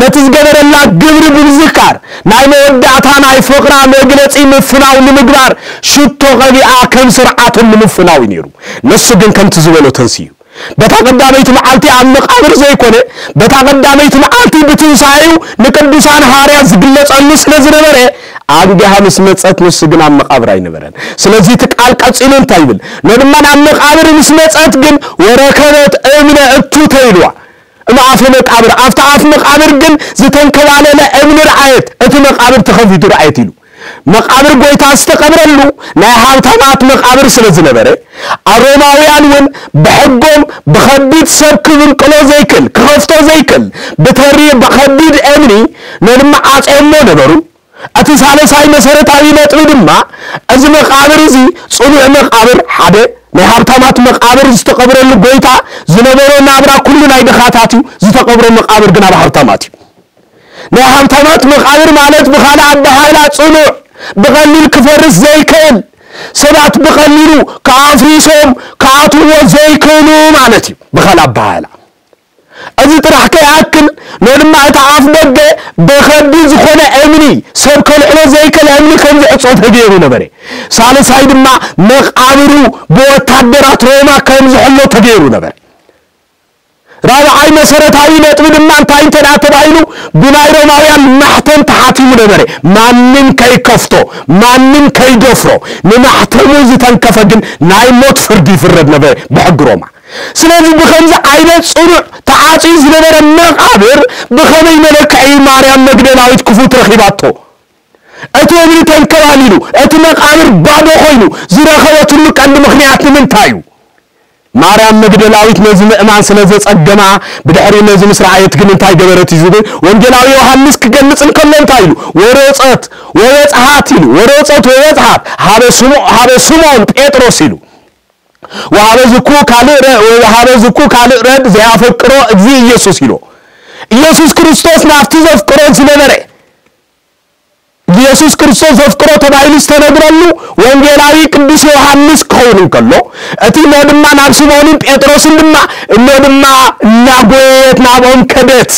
ነቲ ዝገበረላ ግብሪ ብምዝካር ናይ መወዳእታ ናይ ፍቕራ መግለጺ ምፍናው ንምግባር ሽቶ ቀቢኣ ከም ስርዓቶም ንምፍናው እዩ ነይሩ። ንሱ ግን ከምቲ ዝበሎ ተንስዩ። በታ ቀዳመይቲ መዓልቲ ኣብ መቓብር ዘይኮነ፣ በታ ቀዳመይቲ መዓልቲ ብትንሳኤኡ ንቅዱሳን ሃዋርያት ዝግለጸሉ ስለ ዝነበረ፣ ኣንጊሃ ምስ መጸት ንሱ ግን ኣብ መቓብር ኣይነበረን። ስለዚ እቲ ቃል ቀጺሉ እንታይ ይብል? ነድማ ናብ መቓብር ምስ መጸት ግን ወረከበት እምነ እቱ ተይልዋ። እምኣፈ መቃብር፣ ኣብቲ ኣፍ መቃብር ግን ዝተንከባለለ እምኒ ረኣየት፣ እቲ መቃብር ተኸፊቱ ረኣየት ኢሉ። መቃብር ጎይታ ዝተቐብረሉ ናይ ሃብታማት መቃብር ስለ ዝነበረ፣ ኣሮማውያን እውን ብሕጎም ብኸቢድ ሰብ ክብንቅሎ ዘይክል፣ ክኸፍቶ ዘይክል፣ ብተሪ ብኸቢድ እምኒ ነድማ ዓጽዮሞ ነበሩ። እቲ ሳልሳይ መሰረታዊ ነጥቢ ድማ፣ እዚ መቃብር እዚ ጽኑዕ መቃብር፣ ሓደ ናይ ሃብታማት መቃብር ዝተቐብረሉ ጎይታ ዝነበሮ ናብራ ኩሉ ናይ ድኻታት እዩ፣ ዝተቐብሮ መቃብር ግን ኣብ ሃብታማት እዩ። ናይ ሃብታማት መቃብር ማለት ብኻልእ ኣበሃህላ ጽኑዕ፣ ብቐሊል ክፈርስ ዘይክእል፣ ሰባት ብቐሊሉ ክኣፍሪሶም ክኣትዎ ዘይክእሉ ማለት እዩ። ብኻልእ ኣበሃህላ እዚ ጥራሕ ከይኣክል፣ ነድማ እቲ ኣፍ ደገ ብኸቢድ ዝኾነ እምኒ፣ ሰብ ከልዕሎ ዘይክእል እምኒ ከም ዝዕጾ ተገይሩ ነበረ። ሳልሳይ ድማ መቃብሩ ብወታደራት ሮማ ከም ዝሕሎ ተገይሩ ነበረ። ራብዓይ መሰረታዊ ነጥቢ ድማ እንታይ እንተ ደኣ ተባሂሉ፣ ብናይ ሮማውያን ማሕተም ተሓቲሙ ነበረ። ማንም ከይከፍቶ፣ ማንም ከይደፍሮ፣ ንማሕተሙ ዝተንከፈ ግን ናይ ሞት ፍርዲ ይፍረድ ነበረ ብሕጊ ሮማ። ስለዚ ብኸምዚ ዓይነት ጽኑዕ ተዓጽዩ ዝነበረ መቓብር ብኸመይ መለክዒ ማርያም መግደላዊት ክፉት ረኺባቶ? እቲ እምኒ ተንከባሊሉ፣ እቲ መቓብር ባዶ ኮይኑ ዝረኸበትሉ ቀንዲ ምኽንያት ንምንታይ እዩ? ማርያም መግደላዊት ነዚ ምእማን ስለ ዘጸገማ፣ ብድሕሪ ነዚ ምስ ረኣየት ግን እንታይ ገበረት እዩ ዝብል ወንጌላዊ ዮሃንስ ክገልጽ እንከሎ እንታይ ኢሉ? "ወሮጸት ወበጽሓት" ኢሉ። "ወሮጸት ወበጽሓት ሀበ ስሞ-፣ ሀበ ስምዖን ጴጥሮስ" ኢሉ። "ወሀበ ዝኩ ካልእ ረ-፣ ወሀበ ዝኩ ካልእ ረድ ዘያፈቅሮ እግዚእ ኢየሱስ" ኢሉ። ኢየሱስ ክርስቶስ ናብቲ ዘፍቅሮ ዝነበረ፣ ኢየሱስ ክርስቶስ ዘፍቅሮ ተባሂሉ ዝተነግረሉ ወንጌላዊ ቅዱስ ዮሃንስ ክኸውን እንከሎ፣ እቲ ነድማ ናብ ስምዖንን ጴጥሮስን ድማ፣ እነድማ እናጎየየት ናብኦም ከደት።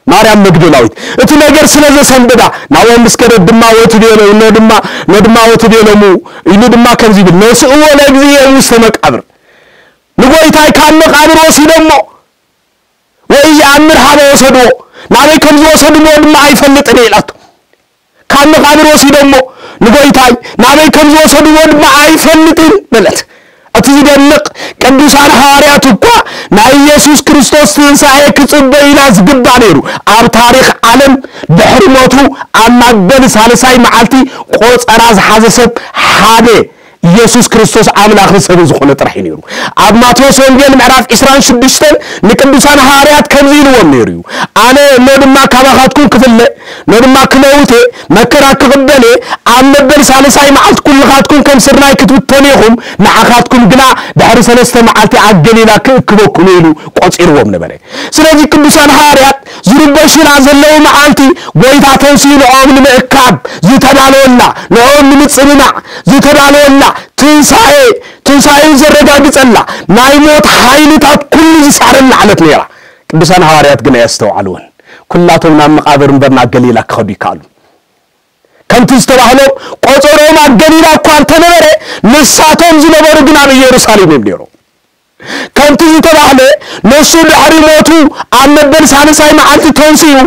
ማርያም መግደላዊት እቲ ነገር ስለ ዘሰንበዳ፣ ናብኦም ምስ ከደት ድማ፣ "ወትቤሎ-፣ እነድማ፣ ነድማ ወትቤሎሙ" ኢሉ ድማ ከምዚ ይብል፣ "ነስእዎ ለእግዚእየ ውስተ መቃብር"፣ ንጎይታይ ካብ መቃብር ወሲዶሞ፣ "ወኢየአምር ሀበ ወሰድዎ"፣ ናበይ ከም ዝወሰድዎ ድማ ኣይፈልጥን እየ ኢላቶ። ካብ መቃብር ወሲዶሞ ንጎይታይ ናበይ ከም ዝወሰድዎ ድማ ኣይፈልጥን በለት። እቲ ዝደንቕ፣ ቅዱሳን ሃዋርያት እኳ ናይ ኢየሱስ ክርስቶስ ትንሳኤ ክጽበዩና ዝግባእ ነይሩ። ኣብ ታሪኽ ዓለም ድሕሪ ሞቱ ኣብ መበል ሳልሳይ መዓልቲ ቆጸራ ዝሓዘ ሰብ ሓደ ኢየሱስ ክርስቶስ ኣምላኽን ሰብን ዝኾነ ጥራሕ እዩ ነይሩ። ኣብ ማቴዎስ ወንጌል ምዕራፍ ዕስራን ሽዱሽተን ንቅዱሳን ሃዋርያት ከምዚ ኢልዎም ነይሩ እዩ። ኣነ እሞ ድማ ካባኻትኩም ክፍለ፣ እሞ ድማ ክመውት እየ፣ መከራ ክቕበል እየ፣ ኣብ መበል ሳልሳይ መዓልቲ ኩልኻትኩም ከም ስርናይ ክትብተኑ ኢኹም፣ ንዓኻትኩም ግና ድሕሪ ሰለስተ መዓልቲ ኣብ ገሊላ ክእክበኩም ኢሉ ቆጺርዎም ነበረ። ስለዚ ቅዱሳን ሃዋርያት ዝርበሹላ ዘለዉ መዓልቲ ጎይታ ተንስኡ ንኦም ንምእካብ ዝተዳለወላ፣ ንኦም ንምጽንናዕ ዝተዳለወላ ትንሳኤ፣ ትንሳኤኡ ዘረጋግጸላ ናይ ሞት ሓይልታት ኩሉ ዝሳረላ ዕለት ነይራ። ቅዱሳን ሃዋርያት ግን ኣየስተውዓልዎን። ኩላቶም ናብ መቓብር እምበር ናብ ገሊላ ክኸዱ ይከኣሉ። ከምቲ ዝተባህሎም ቆጸሮም ኣብ ገሊላ እኳ እንተነበረ ንሳቶም ዝነበሩ ግን ኣብ ኢየሩሳሌም እዮም ነይሮም። ከምቲ ዝተባህለ ንሱ ድሕሪ ሞቱ ኣብ መበል ሳልሳይ መዓልቲ ተንሲኡ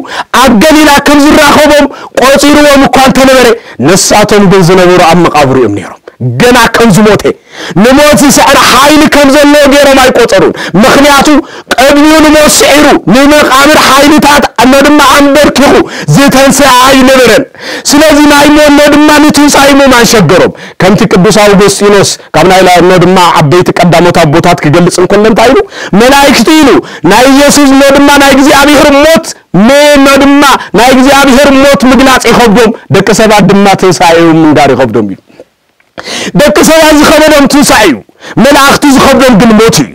ኣብ ገሊላ ከም ዝራኸቦም ቆጺርዎም እኳ እንተነበረ ንሳቶም ግን ዝነበሩ ኣብ መቓብሩ እዮም ነይሮም። ገና ከም ዝሞተ ንሞት ዝስዕር ሓይሊ ከም ዘለዎ ገይሮም ኣይቆጸሩን። ምኽንያቱ ቅድሚኡ ንሞት ስዒሩ ንመቓብር ሓይልታት እሞ ድማ ኣንበርኪኹ ዝተንስኣ ኣይነበረን። ስለዚ ናይ ሞት እሞ ድማ ንትንሳኤ ምእማን ሸገሮም። ከምቲ ቅዱስ ኣውግስጢኖስ ካብ ናይ ላዕሎ ድማ ዓበይቲ ቀዳሞት ኣቦታት ክገልጽ እንከሎ እንታይ ኢሉ? መላእክቲ ኢሉ ናይ ኢየሱስ እሞ ድማ ናይ እግዚኣብሔር ሞት ሞ-፣ እሞ ድማ ናይ እግዚኣብሔር ሞት ምግላጽ ይኸብዶም፣ ደቂ ሰባት ድማ ትንሳኤኡ ምንጋር ይኸብዶም ኢሉ። ደቂ ሰባት ዝኸበዶም ትንሳኤ እዩ፣ መላእክቲ ዝኸብዶም ግን ሞት እዩ።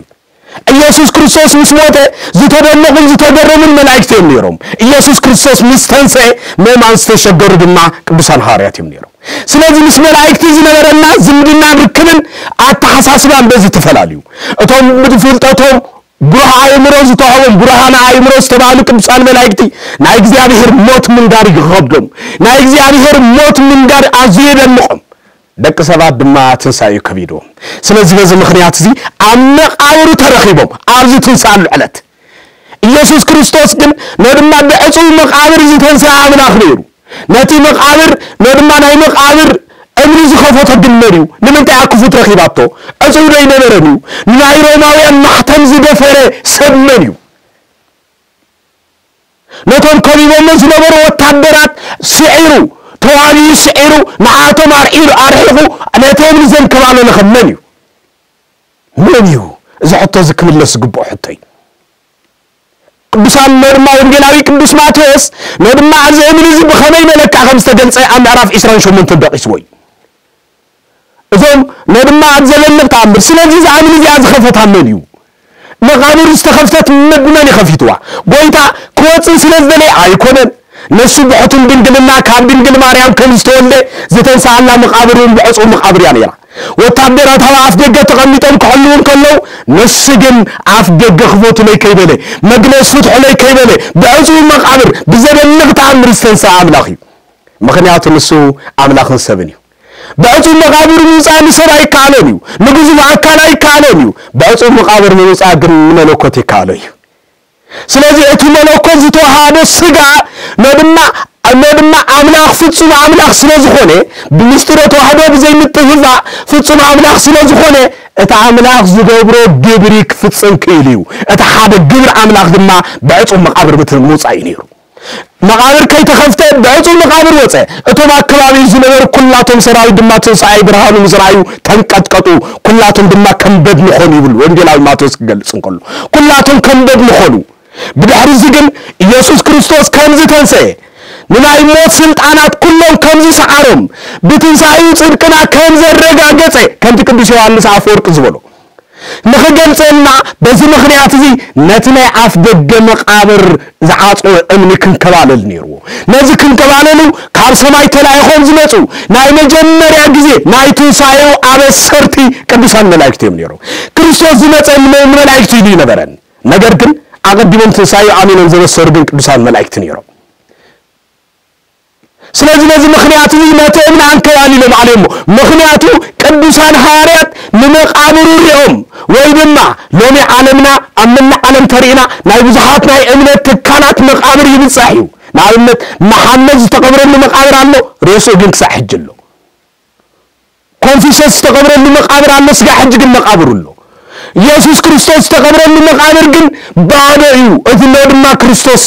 ኢየሱስ ክርስቶስ ምስ ሞተ ዝተደነቑን ዝተገረሙን መላእክቲ እዮም ነይሮም። ኢየሱስ ክርስቶስ ምስ ተንስአ ምእማን ዝተሸገሩ ድማ ቅዱሳን ሃዋርያት እዮም ነይሮም። ስለዚ ምስ መላእክቲ ዝነበረና ዝምድናን ርክብን ኣተሓሳስባን በዚ ተፈላለዩ። እቶም ብፍልጠቶም ብሩህ ኣእምሮ ዝተዋህቦም ብሩሃነ ኣእምሮ ዝተባህሉ ቅዱሳን መላእክቲ ናይ እግዚኣብሔር ሞት ምንጋር ይኸብዶም። ናይ እግዚኣብሔር ሞት ምንጋር ኣዝዩ የደንቖም። ደቂ ሰባት ድማ ትንሳኤኡ ከቢድዎም። ስለዚ በዚ ምኽንያት እዚ ኣብ መቓብሩ ተረኺቦም ኣብዚ ትንሳኣሉ ዕለት። ኢየሱስ ክርስቶስ ግን ነድማ ብዕጹው መቓብር ዝተንስአ ኣምላኽ ነይሩ። ነቲ መቓብር ነድማ ናይ መቓብር እምኒ ዝኸፈቶ ግን መን እዩ? ንምንታይ ኣክፉት ረኺባቶ? ዕጹው ዶ ኣይነበረን እዩ? ንናይ ሮማውያን ማሕተም ዝደፈረ ሰብ መን እዩ? ነቶም ከቢቦሞ ዝነበሩ ወታደራት ስዒሩ፣ ተዋጊኡ ስዒሩ፣ ንዓቶም ኣርዒሉ ኣርሒቑ ነቲ እምኒ ዘንከባለለ ኸ መን እዩ? መን እዩ? እዚ ሕቶ እዚ ክምለስ ዝግብኦ ሕቶ እዩ። ቅዱሳን ነድማ ወንጌላዊ ቅዱስ ማቴዎስ ነድማ ኣብዚ እምኒ እዚ ብኸመይ መለክዕ ከም ዝተገልጸ ኣብ ምዕራፍ ዕስራን ሸሞንተን ደቂስዎ እዩ። እዞም ነድማ ኣብ ዘለንቕ ተኣምር። ስለዚ እዛ እምኒ እዚኣ ዝኸፈታ መን እዩ? መቓብር ዝተኸፍተት መ-፣ ብመን እዩ ከፊትዋ? ጎይታ ክወጽእ ስለ ዝደለየ ኣይኮነን። ንሱ ብሕቱም ድንግልና ካብ ድንግል ማርያም ከም ዝተወልደ ዝተንስኣላ መቓብር እውን ብዕጹው መቓብር እያ ነይራ። ወታደራት ኣብ ኣፍ ደገ ተቐሚጦም ክሕልዉ እንከለዉ ንሱ ግን ኣፍ ደገ ክፈቱለይ ከይበለ፣ መግነዝ ፍትሑለይ ከይበለ ብዕጹው መቓብር ብዘደንቕ ተኣምር ዝተንስኣ ኣምላኽ እዩ። ምኽንያቱ ንሱ ኣምላኽን ሰብን እዩ። ብዕጹው መቓብር ምውጻእ ንሰብ ኣይከኣሎን እዩ። ንግዙፍ ኣካል ኣይከኣሎን እዩ። ብዕጹው መቓብር ምውጻእ ግን ንመለኮት ይከኣሎ እዩ። ስለዚ እቲ መለኮት ዝተዋሃዶ ስጋ ነድማ ነድማ ኣምላኽ ፍጹም ኣምላኽ ስለ ዝኾነ ብምስጢረ ተዋህዶ ብዘይ ምጥፍፋእ ፍጹም ኣምላኽ ስለ ዝኾነ እቲ ኣምላኽ ዝገብሮ ግብሪ ክፍጽም ክእል እዩ። እቲ ሓደ ግብሪ ኣምላኽ ድማ ብዕጹው መቓብር ምት-፣ ምውጻእ እዩ ነይሩ። መቓብር ከይተኸፍተ ብዕጹው መቓብር ወጸ። እቶም ኣብ ከባቢኡ ዝነበሩ ኩላቶም ሰራዊት ድማ ትንሳኤ ብርሃኑ ምስ ረኣዩ ተንቀጥቀጡ፣ ኩላቶም ድማ ከም በድኒ ኾኑ ይብል ወንጌላዊ ማቴዎስ ክገልጽ እንከሎ። ኩላቶም ከም በድኒ ኾኑ። ብድሕሪ እዚ ግን ኢየሱስ ክርስቶስ ከም ዝተንሰኤ፣ ንናይ ሞት ስልጣናት ኩሎም ከም ዝሰዓሮም፣ ብትንሳኤኡ ጽድቅና ከም ዘረጋገጸ፣ ከምቲ ቅዱስ ዮሃንስ ኣፈወርቅ ዝበሎ። ንኽገልጸልና በዚ ምኽንያት እዚ ነቲ ናይ ኣፍ ደገ መቓብር ዝዓጽወ እምኒ ክንከባለል ነይርዎ። ነዚ ክንከባለሉ ካብ ሰማይ ተላኢኾም ዝመጹ ናይ መጀመርያ ግዜ ናይ ትንሳኤኡ ኣበሰርቲ ቅዱሳን መላእክት እዮም ነይሮም። ክርስቶስ ዝመጸ ንመ-፣ ንመላእክቱ ኢሉ ይነበረን። ነገር ግን ኣቐዲሞም ትንሳኤኡ ኣሚኖም ዘበሰሩ ግን ቅዱሳን መላእክት ነይሮም። ስለዚ ነዚ ምኽንያት እዚ ነቲ እምኒ ኣንከባሊሎም ኣለዎ። ምኽንያቱ ቅዱሳን ሃዋርያት ንመቓብሩ ሪኦም ወይ ድማ ሎሚ ዓለምና ኣብ መላእ ዓለም ተሪእና ናይ ብዙሓት ናይ እምነት ትካላት መቓብር ይብጻሕ እዩ። ንኣብነት መሓመድ ዝተቐብረሉ መቓብር ኣሎ፣ ሬስኡ ግን ክሳዕ ሕጂ ኣሎ። ኮንፊሸስ ዝተቐብረሉ መቓብር ኣሎ፣ ስጋ ሕጂ ግን መቓብሩ ኣሎ። ኢየሱስ ክርስቶስ ዝተቐብረሉ መቓብር ግን ባዶ እዩ። እቲ ሎ ድማ ክርስቶስ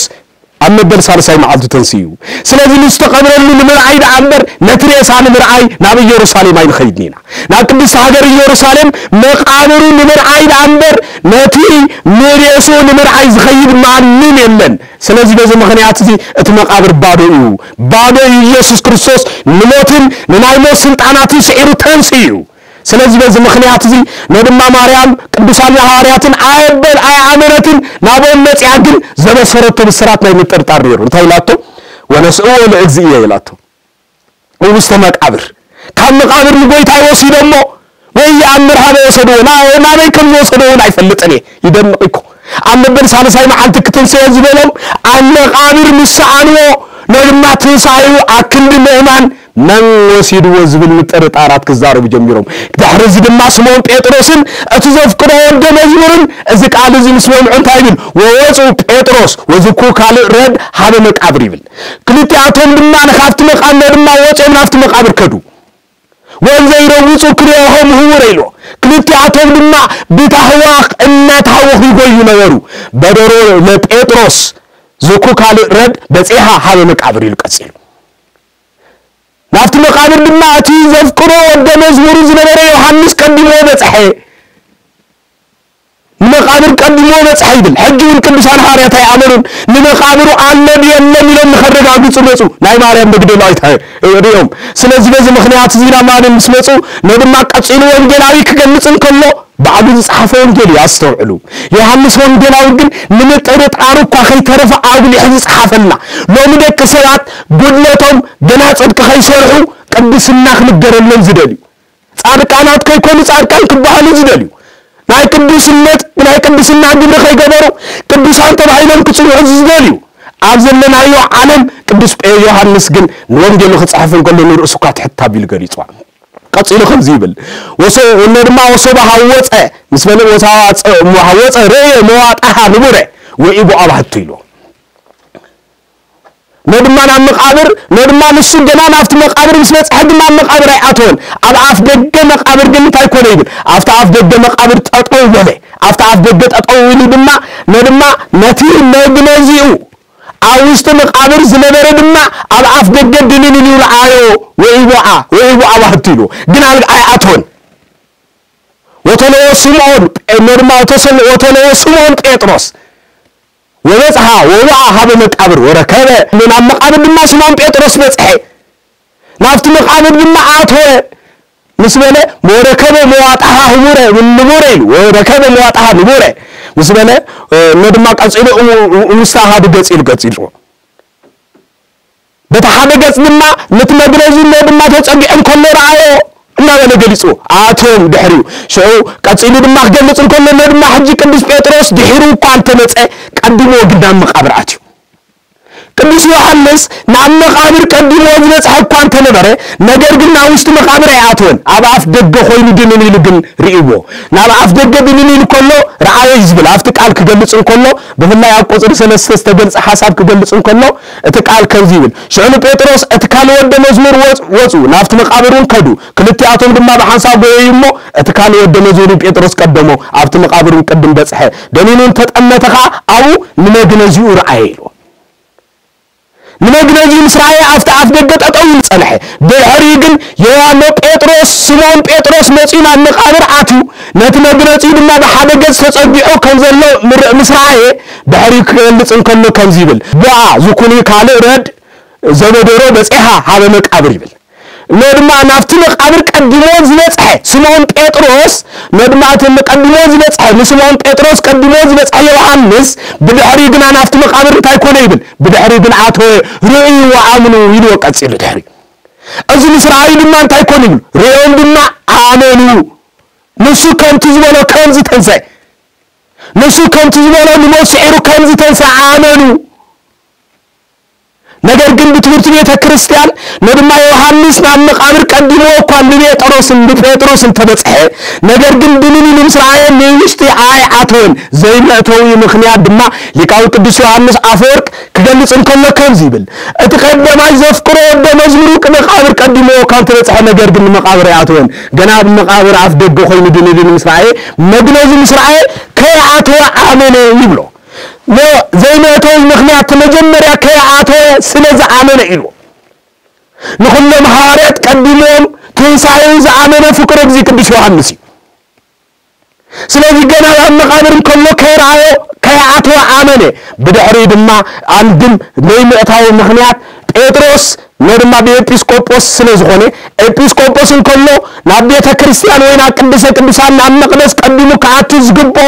ኣብ መበል ሳልሳይ መዓልቱ ተንስኡ እዩ። ስለዚ ንዝተቐብረሉ ንምርኣይ ደኣ እምበር ነቲ ሬሳ ንምርኣይ ናብ ኢየሩሳሌም ኣይንኸይድን ኢና። ናብ ቅድስቲ ሃገር ኢየሩሳሌም መቓብሩ ንምርኣይ ደኣ እምበር ነቲ ንሬስኡ ንምርኣይ ዝኸይድ ማንም የለን። ስለዚ በዚ ምኽንያት እዚ እቲ መቓብር ባዶ እዩ። ባዶ እዩ። ኢየሱስ ክርስቶስ ንሞትን ንናይ ሞት ስልጣናትን ስዒሩ ተንስኡ እዩ። ስለዚ በዚ ምኽንያት እዚ ነድማ ማርያም ቅዱሳን ሃዋርያትን ኣየበል ኣየኣመነትን ናብኦም መጺኣ ግን ዘበሰረቶ ብስራት ናይ ምጥርጣር ነይሩ። እንታይ ኢላቶ? "ወነስእዎ ለእግዚእየ" ኢላቶ። ውስተ መቃብር ካብ መቃብር ንጎይታ ይወስዶ እሞ ወይ የኣምር ሃበ ወሰድዎ ና- ናበይ ከም ዝወሰድዎ እውን ኣይፈልጥን እየ። ይደንቕ እኮ። ኣብ መበል ሳልሳይ መዓልቲ ክትንስኦ ዝበሎም ኣብ መቃብር ምስ ሰኣንዎ ነድማ ትንሳኤኡ ኣክንዲ ምእማን መን ወሲድዎ ዝብል ምጥርጣራት ክዛረቡ ጀሚሮም። ድሕሪ እዚ ድማ ስምዖን ጴጥሮስን እቲ ዘፍቅሮ ወልደ መዝሙርን እዚ ቃል እዚ ምስ በልዑ እንታይ ይብል? ወወፁ ጴጥሮስ ወዝኩ ካልእ ረድ ሃበ መቃብር ይብል። ክልቲኣቶም ድማ ንካብቲ መቃብር ድማ ወፂኦም ናብቲ መቃብር ከዱ። ወንዘ ይረውፁ ክልኤሆም ህውረ ኢሎ። ክልቲኣቶም ድማ ብታህዋኽ እናታወኹ ይጎዩ ነበሩ። በደሮ ለጴጥሮስ ዝኩ ካልእ ረድ በፂሓ ሃበ መቃብር ኢሉ ቀፂሉ። ናብቲ መቃብር ድማ እቲ ዘፍቅሮ ወደ መዝሙሩ ዝነበረ ዮሃንስ ቀዲሞ በፅሐ። ንመቃብር ቀዲሞ በፅሐ ይብል። ሕጂ እውን ቅዱሳን ሃዋርያት ኣይኣመኑን። ንመቃብሩ ኣሎ ድየለን ኢሎም ንኸረጋግፁ መፁ። ናይ ማርያም መግደላዊት ሪኦም። ስለዚ በዚ ምኽንያት እዚ ናብ ማርያም ምስ መፁ ነድማ ቀፂሉ ወንጌላዊ ክገልፅ እንከሎ ባዕሉ ዝፀሓፈ ወንጌል እዩ። ኣስተውዕሉ። ዮሃንስ ወንጌላዊ ግን ንምጥርጣሩ እኳ ከይተረፈ ኣጉሊሑ ዝፀሓፈልና። ሎሚ ደቂ ሰባት ጉድለቶም ገና ፅድቂ ከይሰርሑ ቅድስና ክንገረሎም ዝደልዩ፣ ጻድቃናት ከይኮኑ ጻድቃን ክበሃሉ ዝደልዩ፣ ናይ ቅዱስነት ናይ ቅድስና ግብሪ ከይገበሩ ቅዱሳን ተባሂሎም ክጽውዑ ዝደልዩ ኣብ ዘለናዮ ዓለም ቅዱስ ዮሃንስ ግን ንወንጌሉ ክጽሕፍ እንከሎ ንርእሱ እኳ ትሕት ኣቢሉ ገሊጽዋ። ቀጺሉ ከምዚ ይብል፣ ወሶ- ወነ ድማ ወሶባ ሃወፀ ምስ በለ ወሳዋ ጸ- ሃወፀ ርእየ መዋጣሃ ንቡረ ወኢቦ ኣባህቱ ኢሉ። ነድማ ናብ መቃብር ነድማ ንሱ ገና ናብቲ መቃብር ምስ በጽሐ ግን ናብ መቃብር ኣይኣተወን። ኣብ ኣፍ ደገ መቃብር ግን እንታይ ኮነ ይብል? ኣብቲ ኣፍ ደገ መቃብር ጠጠው በለ። ኣብቲ ኣፍ ደገ ጠጠው ኢሉ ድማ ነድማ ነቲ መግነዚኡ ኣብ ውሽጢ መቃብር ዝነበረ ድማ ኣብ ኣፍ ደገ ድንን ኢሉ ረኣዮ። ወኢቦዓ ወኢቦዓ ባህቱ ኢሉ ግን ኣብ- ኣይኣተወን። ወተለዎ ስምዖን ጴ- ነድማ ወተሰል- ወተለዎ ስምዖን ጴጥሮስ ወበጽሓ ወወዓ ሀበ መቃብር ወረከበ። ናብ መቃብር ድማ ስምዖን ጴጥሮስ በጽሐ። ናብቲ መቃብር ድማ ኣተወ። ምስ በለ ወረከበ መዋጣሃ ህቡረ ንቡረ ኢሉ ወረከበ መዋጣሃ ንቡረ ምስ በለ እሞ ድማ ቀጺሉ እሙ- እሙስተ ኣሃዱ ገጽ ኢሉ ገጽ ኢሉ በቲ ሓደ ገጽ ድማ ነቲ መግነዚ እሞ ድማ ተጸጊዑ እንከሎ ረኣዮ እናበለ ገሊጹ ኣቶም ድሕሪኡ ሽዑ ቀጺሉ ድማ ክገልጽ እንከሎ እሞ ድማ ሕጂ ቅዱስ ጴጥሮስ ድሒሩ እኳ እንተመጸ ቀዲሞ ግን ናብ መቃብር ኣትዩ። ቅዱስ ዮሃንስ ናብ መቃብር ቀዲሞ ዝበጽሐ እኳ እንተነበረ ነገር ግን ናብ ውሽጢ መቃብር ኣይኣተወን። ኣብ ኣፍ ደገ ኮይኑ ድንን ኢሉ ግን ርእይዎ። ናብ ኣፍ ደገ ድንን ኢሉ ከሎ ረኣዮ እዩ ዝብል ኣብቲ ቃል ክገልጽ እንከሎ ብፍላይ ኣብ ቁጽሪ ሰለስተ ዝተገልጸ ሓሳብ ክገልጽ እንከሎ እቲ ቃል ከምዚ ይብል ሽዑ ንጴጥሮስ እቲ ካልእ ወደ መዝሙር ወጽ- ወጹ ናብቲ መቃብር እውን ከዱ። ክልቲኣቶም ድማ ብሓንሳብ ጎየዩ እሞ እቲ ካልእ ወደ መዝሙር ንጴጥሮስ ቀደሞ ኣብቲ መቃብር እውን ቅድም በጽሐ። ደኒኑ እንተጠመተ ኸዓ ኣብኡ ንመግነዚኡ ረኣየ ኢሉ። ንመግነዚኡ ምስ ረኣየ ኣብቲ ኣፍ ደገ ጠጠው ኢሉ ጸንሐ። ብድሕሪኡ ግን ዮሃኖ ጴጥሮስ ስምዖን ጴጥሮስ መጺኡ ናብ መቃብር ኣትዩ ነቲ መግነጺኡ ድማ ብሓደ ገጽ ተጸጊዑ ከም ዘሎ ምር- ምስ ረኣየ ድሕሪኡ ክገልጽ እንከሎ ከምዚ ይብል ቦኣ ዝኩኒ ካልእ ረድ ዘበደሮ በጺሓ ሃበ መቃብር ይብል። እሞ ድማ ናብቲ መቃብር ቀዲሞ ዝበጽሐ ስምዖን ጴጥሮስ እሞ ድማ እቲ ቀዲሞ ዝበጽሐ ንስምዖን ጴጥሮስ ቀዲሞ ዝበጽሐ ዮሃንስ ብድሕሪኡ ግና ናብቲ መቃብር እንታይ ኮነ ይብል ብድሕሪኡ ግን ኣተወ። ርእዩ ወኣምኑ ኢልዎ ቀጺሉ ድሕሪ እዚ ምስ ረኣዩ ድማ እንታይ ኮነ ይብል ርእዮም ድማ ኣመኑ። ንሱ ከምቲ ዝበሎ ከምዚ ተንሰ ንሱ ከምቲ ዝበሎ ንሞት ስዒሩ ከምዚ ተንሰ ኣመኑ። ነገር ግን ብትምህርቲ ቤተ ክርስቲያን ነድማ ዮሃንስ ናብ መቃብር ቀዲሞ እኳ ንጴጥሮስን ንጴጥሮስ እንተበጽሐ ነገር ግን ድንን ኢሉ ምስ ረኣየ ንውሽጢ ኣይኣተወን። ዘይመእተዊ ምኽንያት ድማ ሊቃዊ ቅዱስ ዮሃንስ ኣፈወርቅ ክገልጽ እንከሎ ከምዚ ይብል እቲ ቀደማይ ዘፍቅሮ ወደ መዝሙሩ መቃብር ቀዲሞ እኳ እንተበጽሐ ነገር ግን ንመቃብር ኣይኣተወን። ገና ኣብ መቃብር ኣፍ ደገ ኮይኑ ድንን ኢሉ ምስ ረኣየ መግነዙ ምስ ረኣየ ከይኣተወ ኣመነ ይብሎ። ዘይመእተዊ ምኽንያት መጀመርያ ከይኣተወ ስለ ዝኣመነ ኢሉ። ንኹሎም ሃዋርያት ቀዲሞም ትንሳኤኡ ዝኣመነ ፍቁር እግዚእ ቅዱስ ዮሃንስ እዩ። ስለዚ ገና ኣብ መቓብር እንከሎ ከይረኣዮ ከይኣተወ ኣመነ። ብድሕሪኡ ድማ ኣንድም ዘይምእታዊ ምኽንያት ጴጥሮስ ነድማ ብኤጲስቆጶስ ስለ ዝኾነ፣ ኤጲስቆጶስ እንከሎ ናብ ቤተ ክርስቲያን ወይ ናብ ቅድስተ ቅዱሳን ናብ መቕደስ ቀዲሙ ክኣቱ ዝግብኦ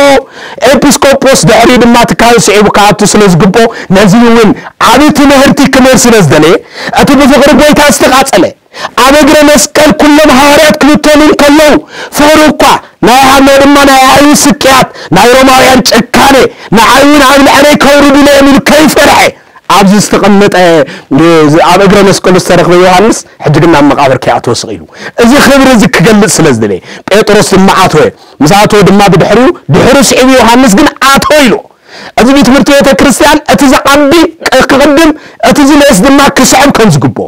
ኤጲስቆጶስ፣ ድሕሪኡ ድማ እቲ ካህን ስዒቡ ክኣቱ ስለ ዝግብኦ፣ ነዚ እውን ዓቢ ትምህርቲ ክምህር ስለ ዝደለየ፣ እቲ ብፍቕሪ ጎይታ ዝተቓጸለ ኣብ እግረ መስቀል ኩሎም ሃዋርያት ክብተኑ እንከለዉ፣ ፍቕሩ እኳ ናይ ሃሎ ድማ ናይ ኣይሁድ ስቅያት፣ ናይ ሮማውያን ጭካኔ ንዓይ እውን ኣብ ልዕለይ ከውርዱለይ እዮም ኢሉ ከይፈርሐ ኣብዚ ዝተቐመጠ ኣብ እግረ መስቀሉ ዝተረኽበ ዮሃንስ ሕጂ ግን ናብ መቓብር ከይኣተወ ስቕ ኢሉ እዚ ክብሪ እዚ ክገልጽ ስለ ዝደለየ ጴጥሮስ ድማ ኣተወ። ምስ ኣተወ ድማ ብድሕሪኡ ድሕሩ ስዒቡ ዮሃንስ ግን ኣተወ ኢሉ። እዚ ቤት ትምህርቲ ቤተ ክርስቲያን እቲ ዝዓቢ ክቕድም እቲ ዝንእስ ድማ ክስዕብ ከም ዝግብኦ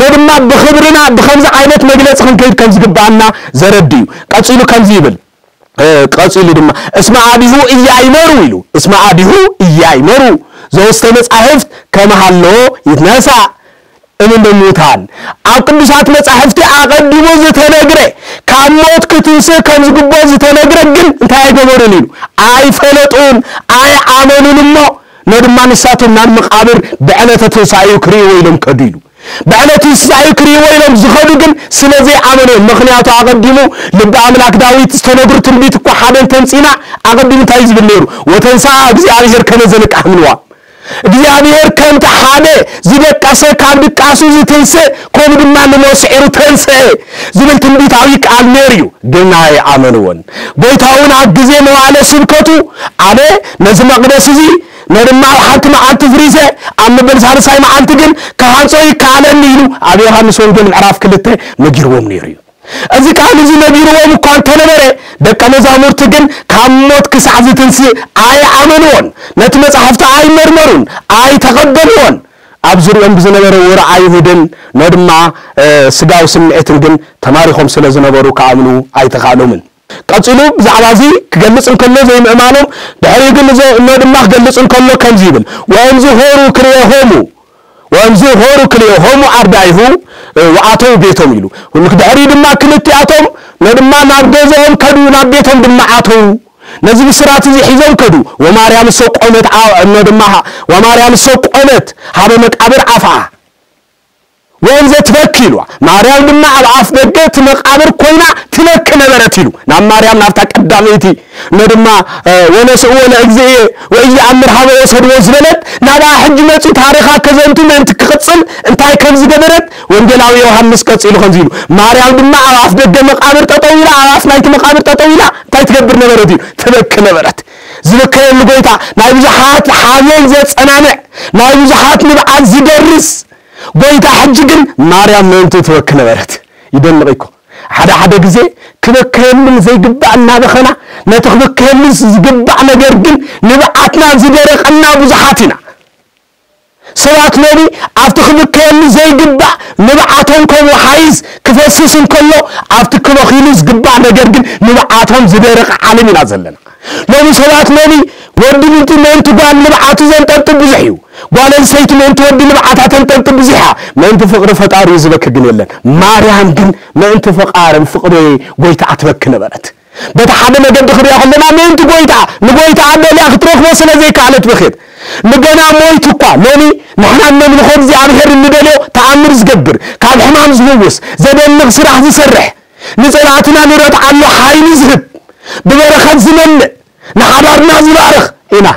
ነድማ ብኽብርና ብኸምዚ ዓይነት መግለጺ ክንከይድ ከም ዝግብኣና ዘረድእ እዩ። ቀጺሉ ከምዚ ይብል። ቀጺሉ ድማ እስመ አቢሁ እያይመሩ ኢሉ። እስመ አቢሁ እያይመሩ ዘውስተ መጻሕፍት ከመሃሎ ይትነሳ እምነ ሙታን። ኣብ ቅዱሳት መጻሕፍቲ ኣቐዲሙ ዝተነግረ ካብ ሞት ክትንስእ ከም ዝግብኦ ዝተነግረ ግን እንታይ ኣይገበሩን ኢሉ። ኣይፈለጡን፣ ኣይኣመኑን እሞ ነድማ ንሳቶም ናብ መቓብር ብዕለተ ትንሳኤኡ ክርእይዎ ኢሎም ከዱ ኢሉ። ብዕለት ትንሳኤኡ ክርእይዎ ኢሎም ዝኸዱ ግን ስለ ዘይኣመኑ እዮም። ምኽንያቱ ኣቐዲሙ ልቢ ኣምላክ ዳዊት ዝተነግሩ ትንቢት እኳ ሓደ እንተምጺና ኣቐዲሙ እንታይ እዩ ዝብል ነይሩ? ወተንሳ እግዚኣብሔር ከመ ዘንቃህ ምንዋ እግዚኣብሔር ከምቲ ሓደ ዝደቀሰ ካብ ድቃሱ ዝትንስእ ከምኡ ድማ ንሞት ስዒሩ ተንስአ ዝብል ትንቢታዊ ቃል ነይሩ እዩ። ግን ኣይኣመንዎን። ጎይታ እውን ኣብ ግዜ መዋዕለ ስብከቱ ኣነ ነዚ መቕደስ እዚ ነድማ ኣብ ሓንቲ መዓልቲ ፍሪሰ ኣብ መበል ሳልሳይ መዓልቲ ግን ክሃንጾ ይከኣለኒ ኢሉ ኣብ ዮሃንስ ወንጌል ምዕራፍ ክልተ ነጊርዎም ነይሩ እዩ። እዚ ቃል እዚ ነጊርዎም እኳ እንተነበረ ደቀ መዛሙርቲ ግን ካብ ሞት ክሳዕ ዝትንስእ ኣይኣመንዎን። ነቲ መጻሕፍቲ ኣይመርመሩን፣ ኣይተቐበልዎን። ኣብ ዙሪኦም ብዝነበረ ወረ ኣይሁድን ነድማ ስጋዊ ስምዒትን ግን ተማሪኾም ስለ ዝነበሩ ክኣምኑ ኣይተኻእሎምን። ቀጺሉ ብዛዕባ እዚ ክገልጽ እንከሎ ዘይምእማኖም ድሕሪኡ ግን እዞ እኖ ድማ ክገልጽ እንከሎ ከምዚ ይብል ወእምዚ ሆሩ ክልኤሆሙ ወእምዚ ሆሩ ክልኤሆሙ ኣርዳኢሁ ወኣተው ቤቶም ኢሉ። ድሕሪኡ ድማ ክልቲኣቶም ነድማ ናብ ገዝኦም ከዱ ናብ ቤቶም ድማ ኣተው። ነዚ ብስራት እዚ ሒዞም ከዱ። ወማርያም እሰ ቆመት እኖ ድማ ወማርያም እሰ ቆመት ሃበ መቃብር ኣፍኣ ወእንዘ ትበኪ ኢልዋ። ማርያም ድማ ኣብ ኣፍ ደገ እቲ መቃብር ኮይና ትበኪ ነበረት ኢሉ። ናብ ማርያም ናብታ ቀዳመይቲ እኖ ድማ ወነስእዎ ለእግዚእየ ወኢየኣምር ሃበ ወሰድዎ ዝበለት ናብኣ ሕጂ መጺኡ ታሪኻ ከዘንቱ ምእንቲ ክቕጽል እንታይ ከም ዝገበረት ወንጌላዊ ዮሃንስ ቀጺሉ ከምዚ ኢሉ ማርያም ድማ ኣብ ኣፍ ደገ መቃብር ጠጠው ኢላ ኣብ ኣፍ ናይቲ መቃብር ጠጠው ኢላ እንታይ ትገብር ነበረት እዩ ትበኪ ነበረት። ዝበከየሉ ጎይታ ናይ ብዙሓት ሓዘን ዘጸናንዕ ናይ ብዙሓት ንብዓት ዝደርስ ጎይታ ሕጂ ግን ማርያም ምእንቲ ትበኪ ነበረት። ይደንቕ እኮ ሓደ ሓደ ግዜ ክበከየሉ ዘይግባእ እናበኸና ነቲ ክበከየሉ ዝግባእ ነገር ግን ንብዓትና ዝደረቐና ብዙሓት ኢና። ሰባት ሎሚ ኣብቲ ክብከየሉ ዘይግባእ ንብዓቶም ከም ወሓይዝ ክፈስስ እንከሎ ኣብቲ ክበኺሉ ዝግባእ ነገር ግን ንብዓቶም ዝደረቐ ዓለም ኢና ዘለና። ሎሚ ሰባት ሎሚ ወዲ ምንቲ ምእንቲ ጓል ንብዓቱ ዘንጠልጥል ብዙሕ እዩ። ጓል ኣንስተይቲ ምእንቲ ወዲ ንብዓታ ተንጠልጥል ብዙሕ እያ። ምእንቲ ፍቕሪ ፈጣሪ ዝበኪ ግን የለን። ማርያም ግን ምእንቲ ፈቃርን ፍቕሪ ጎይታ ኣትበኪ ነበረት። በቲ ሓደ መገዲ ክሪኦ ከለና ምእንቲ ጎይታ ንጎይታ ኣደልያ ክትረኽቦ ስለ ዘይከኣለት በኸት ንገና ሞይቱ እኳ ሎሚ ንሕና ነምልኾ እግዚኣብሔር እንደልዮ ተኣምር ዝገብር ካብ ሕማም ዝህውስ ዘደንቕ ስራሕ ዝሰርሕ ንጸላእትና ንረትዓሉ ሓይሊ ዝህብ ብበረኸት ዝመልእ ንሓዳርና ዝባርኽ ኢና።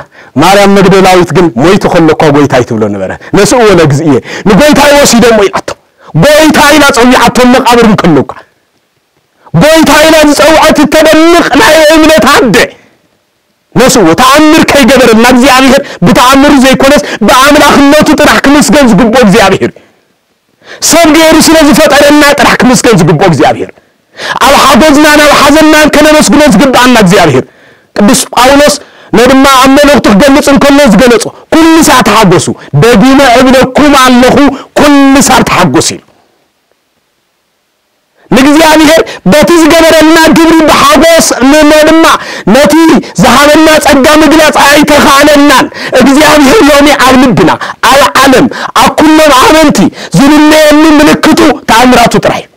ማርያም መግደላዊት ግን ሞይቱ ከሎ እኳ ጎይታይ ትብሎ ነበረ። ነስኡ ወለ ግዝእየ ንጎይታይ ወሲዶሞ ኢላቶ። ጎይታ ኢላ ጸዊዓቶ መቃብር እንከሎ እኳ ጎይታ ኢላ ዝጸውዐት እተደንቕ ናይ እምነት ኣደ ነስኡ ተኣምር ከይገበረልና እግዚኣብሔር ብተኣምሩ ዘይኮነስ ብኣምላኽነቱ ጥራሕ ክምስገን ዝግብኦ እግዚኣብሔር ሰብ ገይሩ ስለ ዝፈጠረና ጥራሕ ክምስገን ዝግብኦ እግዚኣብሔር ኣብ ሓጎዝናን ኣብ ሓዘንናን ከነመስግኖ ዝግብኣና እግዚኣብሔር ቅዱስ ጳውሎስ ነድማ ኣብ መልእኽቱ ክገልጽ እንከሎ ዝገለጾ ኩሉ ሳዕ ተሓጎሱ ደጊመ እብለኩም ኣለኹ ኩሉ ሳዕ ተሓጎሱ ኢሉ እግዚኣብሔር በቲ ዝገበረልና ግብሪ ብሓጎስ ንኖ ድማ ነቲ ዝሃበና ጸጋ ምግላጽ ኣይተኻእለናን። እግዚኣብሔር ሎሚ ኣብ ልብና፣ ኣብ ዓለም፣ ኣብ ኩሎም ኣመንቲ ዝልለየሉ ምልክቱ ተኣምራቱ ጥራይ እዩ።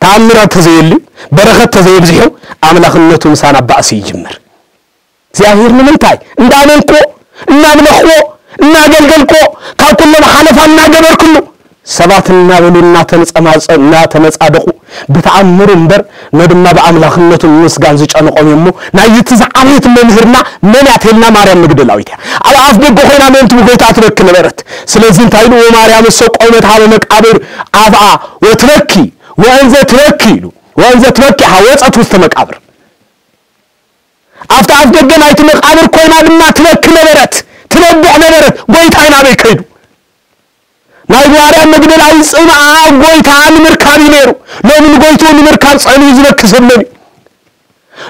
ተኣምራት ተዘየልዩ፣ በረኸት ተዘየብዚሑ፣ ኣምላኽነቱ ምሳና ባእሲ ይጅምር። እግዚኣብሔር ንምንታይ እንዳመንክዎ፣ እናምለኽዎ፣ እናገልገልክዎ፣ ካብ ኩሎም ሓለፋ እናገበርክሉ፣ ሰባት እናበሉ እናተነጸማጸ-፣ እናተመጻደቑ፣ ብተኣምሩ እምበር፣ ነድማ ብኣምላኽነቱ ንምስጋን ዝጨነቖም እዮሞ፣ ናይ እቲ ዝዓበየት መምህርና መን እያ ተልና ማርያም መግደላዊት እያ። ኣብ ኣፍ ደገ ኮይና ምእንቲ ብጎይታ ትበኪ ነበረት። ስለዚ እንታይ ኢሉ? "ወማርያም እሰ ቆመት ሀበ መቃብር አፍአ ወትበኪ፣ ወእንዘ ትበኪ" ኢሉ። "ወእንዘ ትበኪ ሀ ወጸት ውስተ መቃብር" ኣብቲ ኣፍ ደገ ናይቲ መቃብር ኮይና ድማ ትበኪ ነበረት፣ ትነብዕ ነበረት። ጎይታይ ናበይ ከይዱ? ናይ ማርያም መግደላዊት ጽምኣ ጎይታ ንምርካብ እዩ ነይሩ። ሎሚ ንጎይትኡ ንምርካብ ጸልዩ ዝበኪ ሰብ መን እዩ?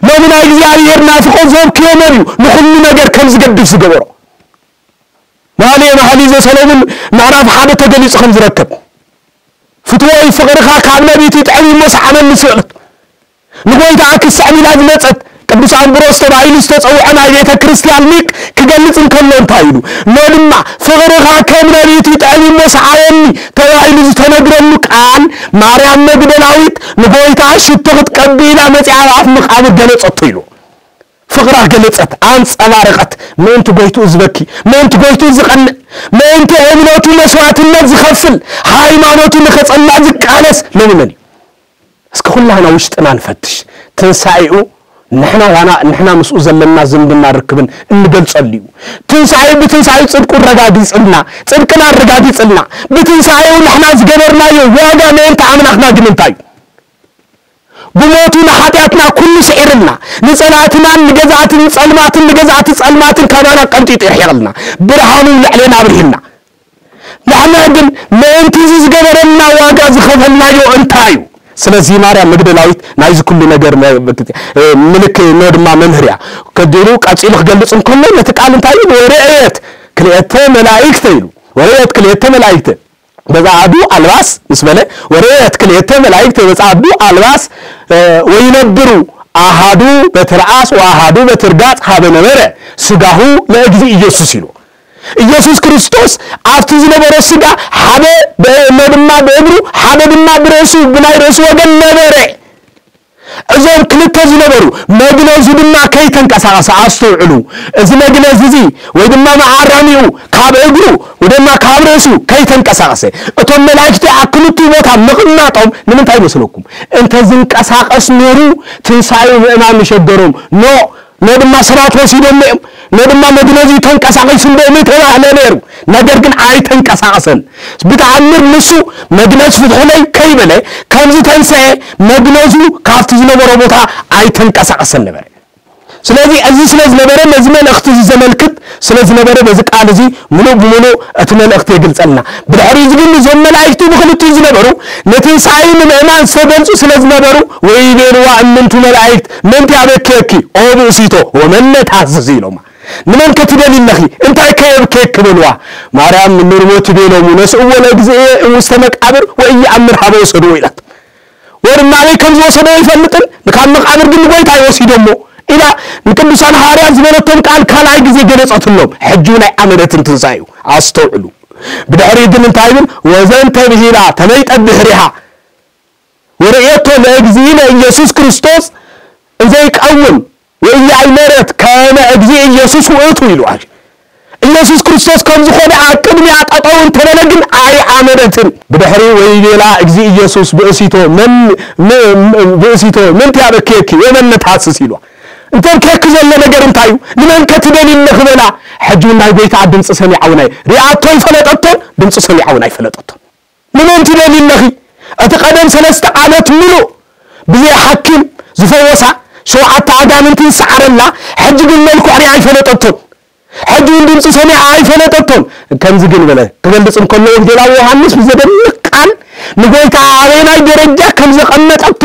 ሎሚ ናይ እግዚኣብሔር ናፍቖት ዘብክዮ መን እዩ? ንኹሉ ነገር ከም ዝገድፍ ዝገበሮ። መኃልየ መኃልይ ዘሰሎሙን ምዕራፍ ሓደ ተገሊጹ ከም ዝረከብ፣ "ፍትወይ ፍቕርኻ ካብ ነቢት ይጥዕም እሞ ሰዓመኒ" ስእለት ንጎይታ ክስዕም ኢላ ዝመጸት ቅዱስ ኣምብሮስ ተባሂሉ ዝተጸውዐ ናይ ቤተ ክርስቲያን ሊቅ ክገልጽ እንከሎ እንታይ ኢሉ? "ኖ ድማ ፍቕርኻ ከም ነቢት ይጥዕም እሞ ሰዓመኒ" ተባሂሉ ዝተነግረሉ ቃል ማርያም መግደላዊት ንጎይታ ሽቶ ክትቀቢ ኢላ መጺኣ ኣብ ኣፍ መቃብር ገለጸቶ ኢሉ። ፍቕራ ገለጸት፣ ኣንጸባረቐት። ምእንቲ ጎይትኡ ዝበኪ፣ ምእንቲ ጎይትኡ ዝቐንእ፣ ምእንቲ እምነቱ መስዋዕትነት ዝኸፍል፣ ሃይማኖቱ ንኸጸንዕ ዝቃለስ ሎሚ መን እዩ? እስኪ ኩላህና ውሽጥና ንፈትሽ። ትንሳኤኡ ንሕና ዋና፣ ንሕና ምስኡ ዘለና ዝምድና ርክብን እንገልጸሉ እዩ። ትንሳኤኡ፣ ብትንሳኤኡ ጽድቁ ኣረጋጊጽልና፣ ጽድቅና ኣረጋጊጽልና። ብትንሳኤኡ ንሕና ዝገበርናዮ ዋጋ ምእንቲ ኣምላኽና ግን እንታይ እዩ? ብሞቱ ንሓጢኣትና ኩሉ ስዒርልና፣ ንጸላእትናን ንገዛእትን ጸልማትን ንገዛእቲ ጸልማትን ካባና ቀንጢጡ የርሒቕልና፣ ብርሃኑ ልዕሌና ኣብሪህልና። ንሕና ግን ምእንቲ እዚ ዝገበረልና ዋጋ ዝኸፈልናዮ እንታይ እዩ? ስለዚ ማርያም መግደላዊት ናይዚ ኩሉ ነገር መ-፣ ምልክ-፣ ኖ ድማ መምህር እያ። ከዲሩ ቀጺሉ ክገልጽ እንከሎ ነቲ ቃል እንታይ ኢሉ? "ወረአየት ክልኤተ መላእክተ" ኢሉ። "ወረአየት ክልኤተ መላእክተ በጸዓዱ ኣልባስ" ምስ በለ፣ "ወረአየት ክልኤተ መላእክተ በጸዓዱ ኣልባስ፣ እ፣ ወይነብሩ ኣሃዱ በትርኣስ ወኣሃዱ በትርጋጽ ሀበ ነበረ ስጋሁ ለእግዚእ ኢየሱስ" ኢሉ። ኢየሱስ ክርስቶስ ኣብቲ ዝነበሮ ስጋ ሓደ ብ-፣ እሞ ድማ ብእግሩ፣ ሓደ ድማ ብርእሱ፣ ብናይ ርእሱ ወገን ነበረ። እዞም ክልተ ዝነበሩ መግነዙ ድማ ከይተንቀሳቐሰ፣ ኣስተውዕሉ። እዚ መግነዝ እዚ ወይ ድማ መዓረሚኡ ካብ እግሩ ወይ ድማ ካብ ርእሱ ከይተንቀሳቐሰ፣ እቶም መላእክቲ ኣብ ክልቲኡ ቦታ ምቕማጦም ንምንታይ ይመስለኩም? እንተ ዝንቀሳቐስ ነይሩ ትንሳኤኡ ምእማን ምሸገሮም። ኖ፣ ኖ ድማ ሰባት ወሲዶም እዮም። ኖ ድማ መግነዙ ተንቀሳቒሱ እንዶ ምተባህለ ነይሩ። ነገር ግን ኣይተንቀሳቐሰን። ብተኣምር ንሱ "መግነዝ ፍትሑለይ" ከይበለ ከም ዝተንስኤ መግነዙ ካብቲ ዝነበሮ ቦታ ኣይተንቀሳቐሰን ነበረ። ስለዚ እዚ ስለ ዝነበረ፣ ነዚ መልእኽቲ እዚ ዘመልክት ስለ ዝነበረ፣ በዚ ቃል እዚ ምሉእ ብምሉእ እቲ መልእኽቲ የግልጸልና። ብድሕሪ እዚ ግን እዞም መላእክቲ ብኽልቲኡ ዝነበሩ ንትንሳኤ ንምእማን ዝተገልጹ ስለ ዝነበሩ፣ "ወይቤልዋ እምንቱ መላእክት ምንቲ ኣበክየኪ ኦ ብእሲቶ ወመነ ታስሲ" ኢሎማ። "ንመን ከ ትደሊ ኣለኺ? እንታይ ከ የብክየኪ?" በልዋ። ማርያም ንርሞት ቤሎሙ ነስእዎ ለእግዚእየ እሙስተ መቃብር ወኢየአምር ሀበ ወሰድዎ ኢላት። ወድማ ኣበይ ከም ዝወሰዶ ኣይፈልጥን፣ ካብ መቃብር ግን ንጎይታ ይወሲዶሞ ኢላ ንቅዱሳን ሃዋርያት ዝበለቶም ቃል ካልኣይ ግዜ ገለጸትሎም። ሕጂ እውን ኣይኣመነትን ትንሳኤኡ። ኣስተውዕሉ። ብድሕሪ ግን እንታይ ይብል? "ወዘንተ ብሂላ ተመይጠ ብድሕሪሃ ወርእየቶ ለእግዚእነ ኢየሱስ ክርስቶስ እንዘይቀውም ወኢያእመረት ከመ እግዚእ ኢየሱስ ውእቱ" ኢሉ። ኢየሱስ ክርስቶስ ከም ዝኾነ ኣብ ቅድሚያ ጠጠው እንተበለ ግን ኣይኣመነትን። ብድሕሪ "ወይቤላ እግዚእ ኢየሱስ ብእሲቶ መን፣ ም-፣ ም-፣ ብእሲቶ ምንቲ ኣበክየኪ ወመን ነትሐስስ" ኢሉ። እንተብክየኪ ዘሎ ነገር እንታይ እዩ? ንመን ከ ትደሊ ኣለኺ በላ። ሕጂ እውን ናይ ጎይታ ድምፂ ሰሚዓ እውን ኣይ-፣ ሪኣቶ ኣይፈለጠቶን፣ ድምፂ ሰሚዓ እውን ኣይፈለጠቶን። ንመን ትደሊ ኣለኺ? እቲ ቀደም ሰለስተ ዓመት ምሉእ ብዘይ ሓኪም ዝፈወሳ ሸውዓተ ኣጋንንቲ ዝሰዓረላ፣ ሕጂ ግን መልክዕ ሪኣ ኣይፈለጠቶን። ሕጂ እውን ድምፂ ሰሚዓ ኣይፈለጠቶን። ከምዚ ግን በለ፣ ክገልጽ እንከሎ ወንጌላዊ ዮሃንስ ብዘደንቕ ቃል ንጎይታ ኣበየናይ ደረጃ ከም ዘቐመጠቶ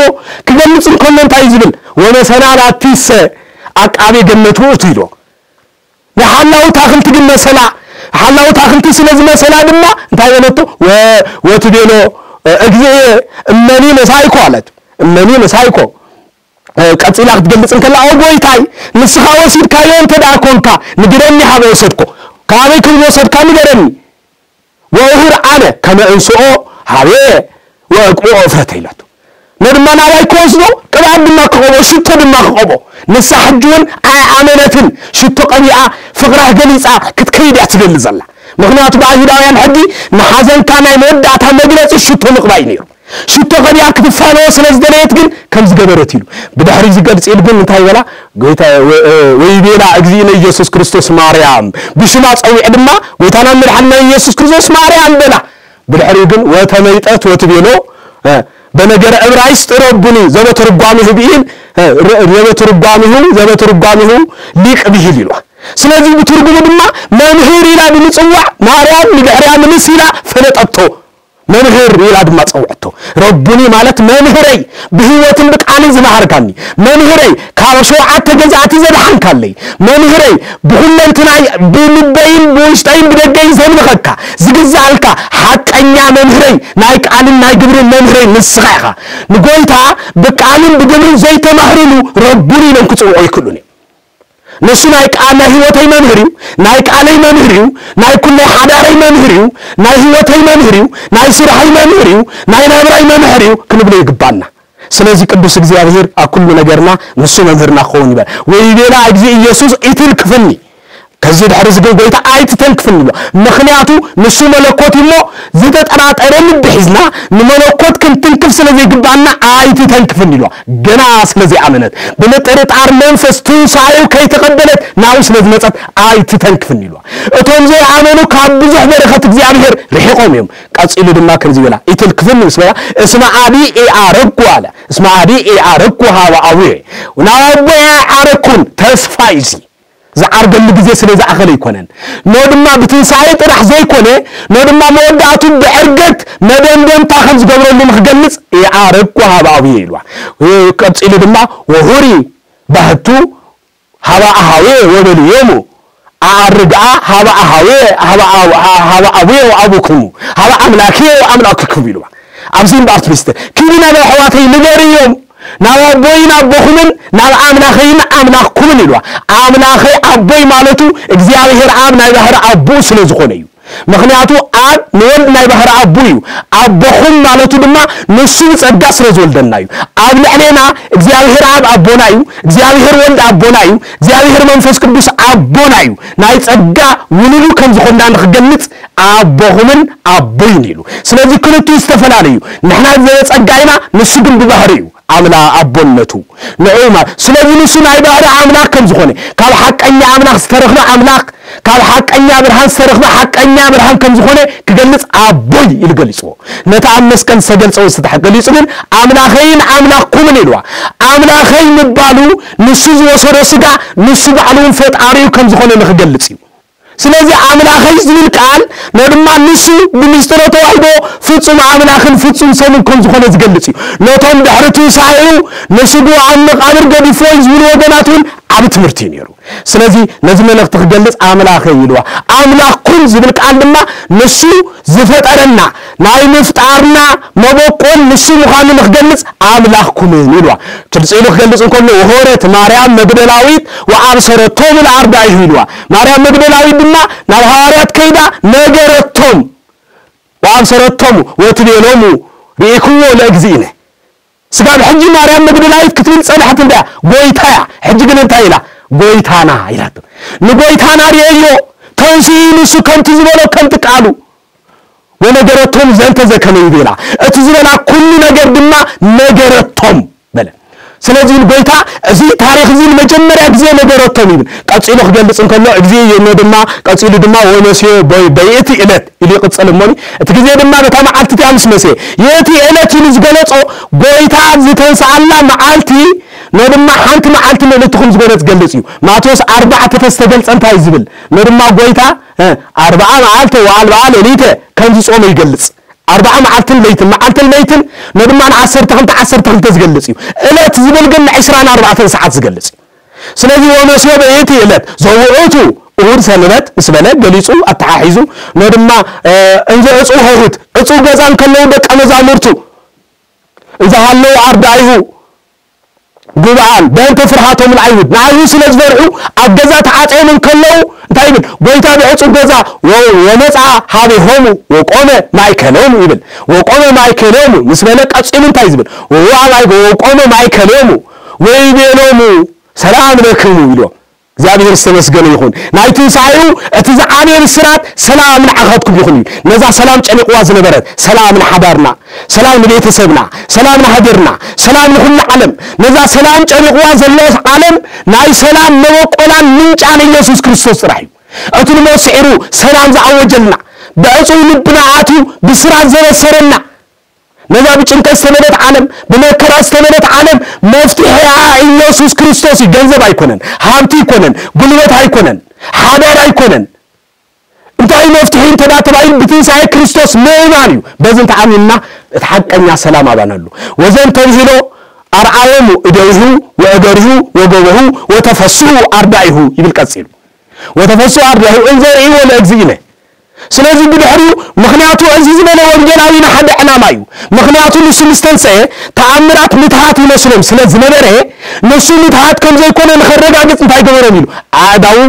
ክገልጽ እንከሎ እንታይ እዩ ዝብል? "ወመሰላል ኣቲሰ ኣቃቤ ገነት ውእቱ" ኢሎ። ንሓላው ታኽልቲ ግን መሰላ። ሓላው ታኽልቲ ስለ ዝመሰላ ድማ እንታይ በለቶ? ወ-፣ ወትቤሎ፣ "እግዚእየ እመኒ መሳይኮ" ኣለት። እመኒ ምሳይ እኮ ቀጺላ ክትገልጽ እንከላ፣ ኦ ጎይታይ፣ ንስኻ ወሲድካዮ እንተ ደኣ ኮንካ፣ ንገረኒ፣ ሃበይ ወሰድኮ፣ ካበይ ከም ዝወሰድካ ንገረኒ። ወእሁር ኣነ ከመ እንስኦ ሀቤ ወእቅብኦ እፍረተ ኢላቶ። ነድማ ናባይ ክወስዶ፣ ቅብኣት ድማ ክቐቦ፣ ሽቶ ድማ ክቐቦ። ንሳ ሕጂ እውን ኣይኣመነትን። ሽቶ ቀቢኣ፣ ፍቕራ ገሊጻ ክትከይድ እያ ትደሊ ዘላ። ምኽንያቱ ብኣይሁዳውያን ሕጊ ንሓዘንካ ናይ መወዳእታ መግለጺ ሽቶ ምቕባይ ነይሩ። ሽቶ ቀቢኣ ክትፋነዎ ስለ ዝደለየት ግን ከም ዝገበረት ኢሉ። ብድሕሪ ዝገልጽ ኢሉ ግን እንታይ በላ? ጎይታ ወ-፣ እ፣ ወይቤላ እግዚእነ ኢየሱስ ክርስቶስ ማርያም፣ ብሽማ ጸዊዕ ድማ ጎይታና መድሓንና ኢየሱስ ክርስቶስ ማርያም በላ። ብድሕሪኡ ግን ወተመይጠት ወትቤሎ፣ እ፣ በነገረ ዕብራይስጥ ረቡኒ ዘበተርጓሚሁ ብኢል፣ እ፣ ረ-፣ ዘበተርጓሚሁ፣ ዘበተርጓሚሁ ሊቅ ብሂል ኢልዋ። ስለዚ ብትርጉሙ ድማ መምህር ኢላ ብምጽዋዕ ማርያም ንድሕሪያ ምልስ ኢላ ፈለጠቶ። መምህር ኢላ ድማ ጸውዐቶ። ረቡኒ ማለት መምህረይ፣ ብህይወትን ብቃልን ዝመሃርካኒ፣ መምህረይ፣ ካብ ሸውዓተ ገዛእቲ ዘድሓንካለይ፣ መምህረይ፣ ብኹለንትናይ፣ ብልበይን ብውሽጠይን ብደገይን ዘምልኸካ፣ ዝግዛኣልካ ሓቀኛ መምህረይ፣ ናይ ቃልን ናይ ግብርን መምህረይ ንስኻ ኢኻ። ንጎይታ ብቃልን ብግብርን ዘይተማህርሉ ረቡኒ ኢሎም ክጽውዑ ኣይክእሉን እዮም። ንሱ ናይ ቃል ናይ ህይወተይ መምህር እዩ፣ ናይ ቃለይ መምህር እዩ፣ ናይ ኩለይ ሓዳረይ መምህር እዩ፣ ናይ ህይወተይ መምህር እዩ፣ ናይ ስራሐይ መምህር እዩ፣ ናይ ናብራይ መምህር እዩ ክንብሎ ይግባና። ስለዚ ቅዱስ እግዚኣብሔር ኣብ ኩሉ ነገርና ንሱ መምህርና ክኸውን ይበል። ወይቤላ እግዚእ ኢየሱስ ኢትንክፍኒ፣ ከዚ ድሕሪ እዚ ግን ጎይታ ኣይትተንክፍኒ ኢሉ። ምኽንያቱ ንሱ መለኮት እዩ እሞ ዝተጠራጠረ ልቢ ሒዝና ንመለኮት ክንትንክፍ ስለ ዘይግባና ኣይትተንክፍኒ ኢሉ። ገና ስለ ዘይኣመነት ብምጥርጣር መንፈስ ትንሳኤው ከይተቐበለት ናብኡ ስለ ዝመጸት ኣይትተንክፍኒ ኢሉ። እቶም ዘይኣመኑ ካብ ብዙሕ በረኸት እግዚኣብሔር ርሒቖም እዮም። ቀጺሉ ድማ ከምዚ በላ፣ ኢትልክፍኒ ምስ በላ፣ እስመ አዲ ኢአረኩ ኣለ። እስመ አዲ ኢአረኩ ሀበ አቡየ፣ ናብ ኣቦየ ኣይዓረኩን። ተስፋ እዩ እዚ። ዝዓርገሉ ግዜ ስለ ዝኣኸለ ኣይኮነን። ኖ ድማ ብትንሳኤ ጥራሕ ዘይኮነ፣ ኖ ድማ መወዳእቱ ብዕርገት መደምደምታ ከም ዝገብረሉ ንክገልጽ፣ ኢአረኩ ሀበ አቡየ ኢልዋ። ቀጺሉ ድማ ወሁሪ ባህቱ ሀበ አሃዌ ወበልዮሙ፣ ኣኣርግኣ ሀበ አሃዌ፣ ሀበ አብ-፣ ሀበ አቡየ ወአቡክሙ፣ ሀበ አምላኬ ወአምላክክሙ ኢልዋ። ኣብዚ እምበኣር ትሪስተ፣ ኪዲ ናብ ኣሕዋተይ ንገርዮም፣ ናብ ኣቦይን ኣቦኹምን ናብ ኣምላኸይን ኣምላኽኩምን ኢልዋ። ኣምላኸይ ኣቦይ ማለቱ እግዚኣብሔር ኣብ ናይ ባህሪ ኣቦኡ ስለ ዝኾነ እዩ። ምኽንያቱ ኣብ ንወልድ ናይ ባህሪ ኣቦ እዩ። ኣቦኹም ማለቱ ድማ ንሱ ብጸጋ ስለ ዝወልደና እዩ። ኣብ ልዕሌና እግዚኣብሔር ኣብ ኣቦና እዩ፣ እግዚኣብሔር ወልድ ኣቦና እዩ፣ እግዚኣብሔር መንፈስ ቅዱስ ኣቦና እዩ። ናይ ጸጋ ውሉዱ ከም ዝኾንና ንኽገልጽ ኣቦኹምን ኣቦይን ኢሉ። ስለዚ ክልቲኡ ዝተፈላለዩ። ንሕና ብጸጋ ኢና፣ ንሱ ግን ብባህሪ እዩ። ኣምላ ኣቦነቱ ንዑ ማ-፣ ስለዚ ንሱ ናይ ባህሪ ኣምላኽ ከም ዝኾነ፣ ካብ ሓቀኛ ኣምላኽ ዝተረኽበ ኣምላኽ፣ ካብ ሓቀኛ ብርሃን ዝተረኽበ ሓቀኛ ብርሃን ከም ዝኾነ ክገልጽ ኣቦይ ኢሉ ገሊጽዎ። ነቲ ኣብ መስቀል ዝተገልጸ ወይ ዝተሓ-፣ ገሊጹ ግን ኣምላኸይን ኣምላኽኩምን ኢልዋ። ኣምላኸይ ምባሉ ንሱ ዝወሰዶ ስጋ ንሱ ባዕሉ እውን ፈጣሪኡ ከም ዝኾነ ንኽገልጽ እዩ። ስለዚ ኣምላኸይ ዝብል ቃል ነድማ ንሱ ብምስጢረ ተዋህዶ ፍጹም ኣምላኽን ፍጹም ሰብን ከም ዝኾነ ዝገልጽ እዩ። ነቶም ድሕሪ ትንሳኤኡ ንስግኡ ኣብ መቃብር ገዲፍዎ እዩ ዝብሉ ወገናት እውን ዓቢ ትምህርቲ እዩ ነይሩ። ስለዚ ነዚ መልእኽቲ ክገልጽ ኣምላኸይ ኢልዋ። ኣምላኽኩም ዝብል ቃል ድማ ንሱ ዝፈጠረና ናይ ምፍጣርና መበቆል ንሱ ምዃኑ ንክገልጽ ኣምላኽኩምን ኢልዋ። ክልጽ ኢሉ ክገልጽ እንከሎ ወሆረት ማርያም መግደላዊት ወአብሰረቶሙ ለአርዳኢሁ ኢልዋ። ማርያም መግደላዊት ድማ ናብ ሃዋርያት ከይዳ ነገረቶም። ወአብሰረቶሙ ወትቤሎሙ ርኢክዎ ለእግዚእነ። ስጋብ ሕጂ ማርያም መግደላዊት ክትብል ጸንሐት እንዳ ጎይታያ። ሕጂ ግን እንታይ ኢላ? ጎይታና ኢላቶ። ንጎይታና ርእዮ፣ ተንስኡ ንሱ ከምቲ ዝበሎ ከምቲ ቃሉ። ወነገረቶም ዘንተ ዘከመ ይቤላ፣ እቲ ዝበላ ኩሉ ነገር ድማ ነገረቶም በለ። ስለዚህ ጎይታ እዚ ታሪኽ እዚ ንመጀመርያ ግዜ ነገረቶም ይብል። ቀጺሉ ክገልጽ እንከሎ፣ እግዚእ ይብሎ ድማ፣ ቀጺሉ ድማ ወነስዮ በ-፣ በይእቲ ዕለት ኢሉ ይቕጽል እሞኒ፣ እቲ ግዜ ድማ በታ መዓልቲ እቲኣ ምስ መሰየ፣ የእቲ ዕለት ኢሉ ዝገለጾ፣ ጎይታ ዝተንስኣላ መዓልቲ፣ ነድማ ሓንቲ መዓልቲ ምእንቲ ከም ዝኾነ ዝገልጽ እዩ። ማቴዎስ ኣርባዕተ ተዝተገልጸ እንታይ ዝብል? ነድማ ጎይታ፣ እ፣ ኣርብዓ መዓልተ ወኣልብዓ ሌሊተ ከም ዝጾመ ይገልጽ። ኣርብዓ መዓልትን ለይትን፣ መዓልትን ለይትን፣ ነድማ ንዓሰርተ ክልተ፣ ዓሰርተ ክልተ ዝገልጽ እዩ። ዕለት ዝብል ግን ንዕስራን ኣርባዕተን ሰዓት ዝገልጽ እዩ። ስለዚ ወነስዮ በየቲ ዕለት ዘውዑቱ እሁድ ሰንበት ምስ በለ ገሊጹ ኣተሓሒዙ፣ ነድማ፣ እ፣ እንዘ ዕጹ ሆህት፣ ዕጹ ገዛ እንከለዉ ደቀ መዛሙርቱ፣ እዛ ሃለዉ ኣርዳኢሁ ጉብኣን በእንተ ፍርሃቶም ንኣይሁድ፣ ንኣይሁድ ስለ ዝፈርሑ ኣብ ገዛ ተዓጽዮም እንከለዉ እንታይ ይብል? ጎይታ ብዕጹብ ገዛ ወ-፣ ወመጽኣ ሀቤሆሙ ወቆመ ማእከሎሙ ይብል። ወቆመ ማእከሎሙ ምስ በለ ቀጺሉ እንታይ ዝብል? ወወ ኣባይ ወቆመ ማእከሎሙ ወይቤሎሙ ሰላም ለክሙ ኢልዎም። እግዚኣብሔር ዝተመስገነ ይኹን። ናይ ትንሳኤኡ እቲ ዝዓበየ ብስራት ሰላም ንዓኻትኩም ይኹን እዩ። ነዛ ሰላም ጨኒቕዋ ዝነበረት፣ ሰላም ንሓዳርና፣ ሰላም ንቤተሰብና፣ ሰላም ንሃገርና፣ ሰላም ንኹሉ ዓለም። ነዛ ሰላም ጨኒቕዋ ዘሎ ዓለም ናይ ሰላም መበቆላን ምንጫን ኢየሱስ ክርስቶስ ጥራሕ እዩ። እቲ ንሞት ስዒሩ ሰላም ዝኣወጀልና፣ ብዕጹው ልብና ኣትዩ ብስራት ዘበሰረና፣ ነዛ ብጭንቀት ዝተመልአት ዓለም፣ ብመከራ ዝተመልአት ዓለም መፍትሒኣ ኢየሱስ ክርስቶስ እዩ። ገንዘብ ኣይኮነን፣ ሃብቲ ኣይኮነን፣ ጉልበት ኣይኮነን፣ ሓዳር ኣይኮነን። እንታይ መፍትሒ እንተ ደኣ ተባሂሉ ብትንሳኤ ክርስቶስ ምእማን እዩ። በዚ እንተ ኣሚንና እቲ ሓቀኛ ሰላም ኣባና ኣሎ። ወዘንተ ብሂሎ ኣርዓዮሙ እደዊሁ ወእገሪሁ ወገበሁ ወተፈስሑ ኣርዳኢሁ ይብል ቀጺሉ። ወተፈስሑ ኣርዳኢሁ እንዘ ርእይዎ ለእግዚእነ። ስለዚ ብድሕሪኡ ምኽንያቱ እዚ ዝበለ ወንጌላዊ ንሓደ ዕላማ እዩ። ምኽንያቱ ንሱ ምስ ተንሰኤ ተኣምራት ምትሃት ይመስሎም ስለ ዝነበረ ንሱ ምትሃት ከም ዘይኮነ ንኸረጋግጽ እንታይ ገበሮም ኢሉ ኣእዳዉ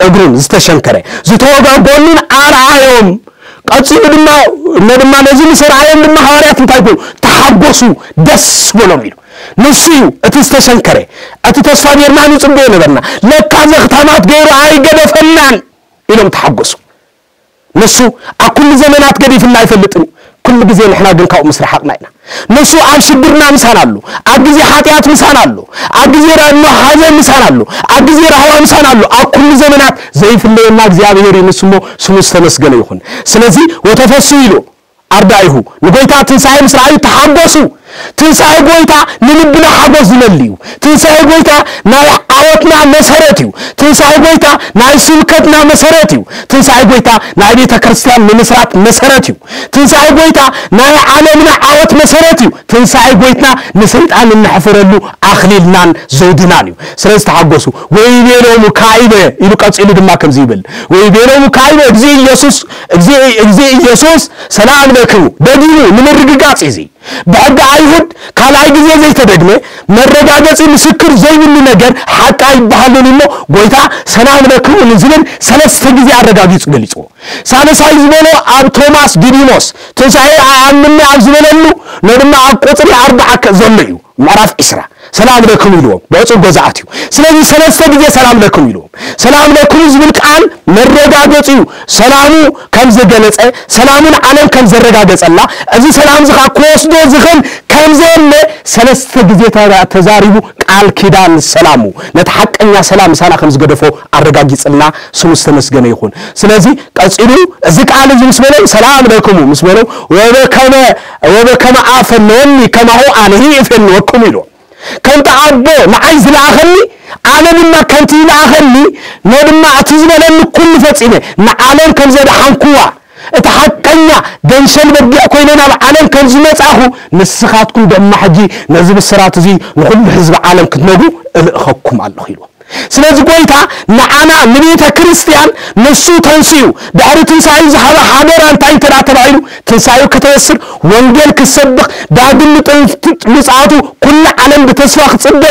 እግሩን ዝተሸንከረ ዝተወጋ ጎኑን ኣርኣዮም። ቀጺሉ ድማ እሞ ድማ ነዚ ምስ ኣርኣዮም ድማ ሃዋርያት እንታይ ኮኑ? ተሓጎሱ፣ ደስ በሎም ኢሉ። ንሱ እዩ እቲ ዝተሸንከረ፣ እቲ ተስፋ ጌርና ንጽበዮ ነበርና። ለካ ዘኽታማት ገይሩ ኣይገደፈናን ኢሎም ተሓጎሱ። ንሱ ኣብ ኩሉ ዘመናት ገዲፍና ኣይፈልጥን እዩ። ኩሉ ግዜ ንሕና ግን ካብኡ ምስ ረሓቕና ኢና። ንሱ ኣብ ሽግርና ምሳና ኣሎ፣ ኣብ ግዜ ሓጢኣት ምሳና ኣሎ፣ ኣብ ግዜ ራድሞ ሓዘን ምሳና ኣሎ፣ ኣብ ግዜ ራህዋ ምሳና ኣሎ። ኣብ ኩሉ ዘመናት ዘይፍለየና እግዚኣብሔር እዩ። ንሱ እሞ ስሙ ዝተመስገነ ይኹን። ስለዚ ወተፈሱ ኢሉ ኣርዳኢሁ ንጎይታ ትንሳኤ ምስ ረኣዩ ተሓጎሱ። ትንሳኤ ጎይታ ንልብና ሓጎስ ዝመልእ እዩ። ትንሳኤ ጎይታ ናይ ዓወትና መሰረት እዩ። ትንሳኤ ጎይታ ናይ ስብከትና መሰረት እዩ። ትንሳኤ ጎይታ ናይ ቤተ ክርስቲያን ምምስራት መሰረት እዩ። ትንሳኤ ጎይታ ናይ ዓለምና ዓወት መሰረት እዩ። ትንሳኤ ጎይትና ንሰይጣን እነሕፍረሉ ኣኽሊልናን ዘውድናን እዩ። ስለዚ ተሓጎሱ። ወይቤሎሙ ካይበ ኢሉ ቀጺሉ ድማ ከምዚ ይብል። ወይቤሎሙ ካይበ እግዚእ ኢየሱስ፣ እግዚእ፣ እግዚእ ኢየሱስ ሰላም ለክሙ። ደጊሙ ንምርግጋጽ እዩ እዚ። ብሕጊ ኣይሁድ ካልኣይ ግዜ ዘይተደግመ መረጋገጺ ምስክር ዘይብሉ ነገር ሓቂ ኣይበሃልን እሞ ጎይታ ሰላም ለክሙ ንዝብል ሰለስተ ግዜ ኣረጋጊጹ ገሊጽዎ። ሳልሳይ ዝበሎ ኣብ ቶማስ ዲዲሞስ ትንሳኤ ኣኣምኒ ኣብ ዝበለሉ ነድማ ኣብ ቁጽሪ ኣርባዓ ከ ዘሎ እዩ። ምዕራፍ ዒስራ ሰላም ለክሙ ኢልዎም ብዕጹብ ገዛ ኣትዩ። ስለዚ ሰለስተ ግዜ ሰላም ለክሙ ኢልዎም። ሰላም ለክሙ ዝብል ቃል መረጋገጺ እዩ። ሰላሙ ከም ዘገለጸ፣ ሰላሙ ንዓለም ከም ዘረጋገጸላ፣ እዚ ሰላም እዚ ኸኣ ክወስዶ ዝኽእል ከም ዘየለ ሰለስተ ግዜ ተራ-፣ ተዛሪቡ ቃል ኪዳን ሰላሙ ነቲ ሓቀኛ ሰላም ምሳና ከም ዝገደፎ ኣረጋጊጽልና ስሙ ዝተመስገነ ይኹን። ስለዚ ቀጺሉ እዚ ቃል እዚ ምስ በሎም ሰላም ለክሙ ምስ በሎም ወበከመ፣ ወበከመ ኣፈነወኒ ከማሁ ኣነሂ እፌንወክሙ ኢልዎም። ከምቲ ኣቦ ንዓይ ዝለኣኸኒ ኣነ ድማ ከምቲ ይለኣኸኒ ነድማ እቲ ዝበለኒ ኩሉ ፈጺመ ንዓለም ከም ዘድሓንኩዋ እቲ ሓቀኛ ገንሸል በጊዕ ኮይነ ናብ ዓለም ከም ዝመጻኹ ንስኻትኩም ደማ ሕጂ ነዚ ብስራት እዚ ንኹሉ ህዝቢ ዓለም ክትነግሩ እልእኸኩም ኣለኹ ኢልዎም። ስለዚ ጎይታ ንዓና ንቤተ ክርስቲያን ንሱ ተንስኡ ድሕሪ ትንሳኤ ዝሃበ ሓደራ እንታይ እንተ ደኣ ተባሂሉ ትንሳኤኡ ከተበስር ወንጌል ክሰብኽ ዳግም ምጥን-፣ ምጽኣቱ ኩሉ ዓለም ብተስፋ ክጽበ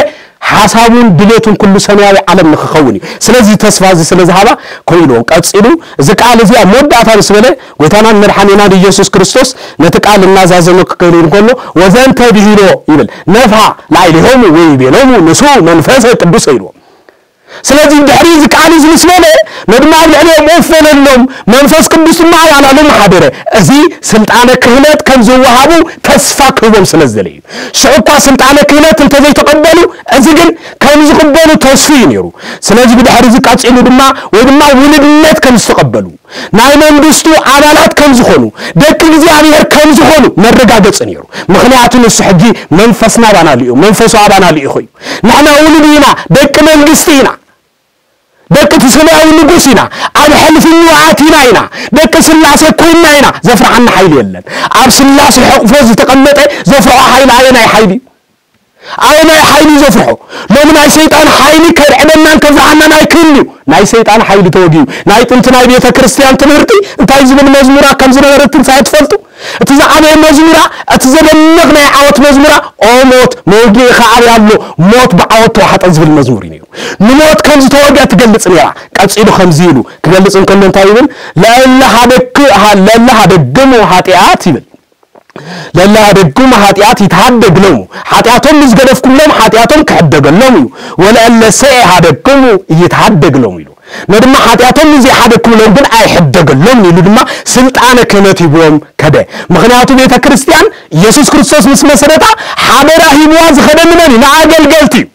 ሓሳቡን ድሌቱን ኩሉ ሰማያዊ ዓለም ንክኸውን እዩ። ስለዚ ተስፋ እዚ ስለ ዝሃባ ከምኡ ኢልዎም ቀጺሉ እዚ ቃል እዚ ኣብ መወዳእታ ምስ በለ ጎይታናን መድሓኒናን ኢየሱስ ክርስቶስ ነቲ ቃል እናዛዘመ ክከይድ እንከሎ ወዘንተ ብሂሎ ይብል ነፍሃ ላዕሌሆሙ ወይቤሎሙ ንሱ መንፈሰ ቅዱስ ኢልዎም። ስለዚ ድሕሪ እዚ ቃል እዚ ምስ በለ ነድማ ኣብ ልዕሊኦም ኡፍ በለሎም መንፈስ ቅዱስ ድማ ኣባላሎም ሓደረ። እዚ ስልጣነ ክህነት ከም ዝወሃቡ ተስፋ ክህቦም ስለ ዝደለ እዩ። ሽዑ እኳ ስልጣነ ክህነት እንተዘይተቐበሉ እዚ ግን ከም ዝቕበሉ ተስፉ እዩ ነይሩ። ስለዚ ብድሕሪ እዚ ቀጺሉ ድማ ወይ ድማ ውሉድነት ከም ዝተቐበሉ ናይ መንግስቱ ኣባላት ከም ዝኾኑ ደቂ እግዚኣብሔር ከም ዝኾኑ መረጋገጺ ነይሩ። ምኽንያቱ ንሱ ሕጂ መንፈስና ኣባና ልኡ መንፈሱ ኣባና ልኢኹ እዩ። ንሕና ውሉድ ኢና፣ ደቂ መንግስቲ ኢና፣ ደቂ እቲ ሰማያዊ ንጉስ ኢና፣ ኣብ ሕልፍኑ ኣቲና ኢና፣ ደቂ ስላሴ ኮይና ኢና። ዘፍርሓና ሓይሊ የለን። ኣብ ስላሴ ሕቕፎ ዝተቐመጠ ዘፍርሖ ሓይሊ ኣየናይ ሓይሊ እዩ? ኣየናይ ሓይሊ ዘፍርሖ? ሎሚ ናይ ሰይጣን ሓይሊ ከድዕበናን ከብዝሓናን ኣይክእልን እዩ። ናይ ሰይጣን ሓይሊ ተወጊኡ። ናይ ጥንቲ ናይ ቤተ ክርስቲያን ትምህርቲ እንታይ ዝብል መዝሙራ ከም ዝነበረ ትንሳኤ ትፈልጡ? እቲ ዝዓበየ መዝሙራ፣ እቲ ዘደንቕ ናይ ዓወት መዝሙራ፣ "ኦ ሞት፣ መውጊእኻ ኣበይ ኣሎ? ሞት ብዓወት ተዋሕጠ" ዝብል መዝሙር እዩ ነይሩ። ንሞት ከም ዝተወግአ ትገልጽ ነይራ። ቀጺሉ ከምዚ ኢሉ ክገልጽ እንከሎ እንታይ ይብል? "ለእለ ሀደክ-፣ ሀ-፣ ለእለ ሀደግሙ ኃጢአት" ይብል። "ለእለ ሀደግሙ ኃጢአት ይትሃደግ ሎሙ"፣ ሓጢኣቶም ምስ ገደፍኩሎም ሓጢኣቶም ክሕደገሎም እዩ። "ወለእለ ሰኤ ሀደግሙ ይትሃደግ ሎሙ" ኢሉ። ነድማ ሓጢኣቶም ምስ ዘይሓደግኩሎም ግን ኣይሕደገሎም ኢሉ ድማ ስልጣነ ክህነት ሂብዎም ከደ። ምኽንያቱ ቤተ ክርስቲያን ኢየሱስ ክርስቶስ ምስ መሰረታ ሓደራ ሂብዋ ዝኸደ ንመን እዩ? ንኣገልገልቲ እዩ።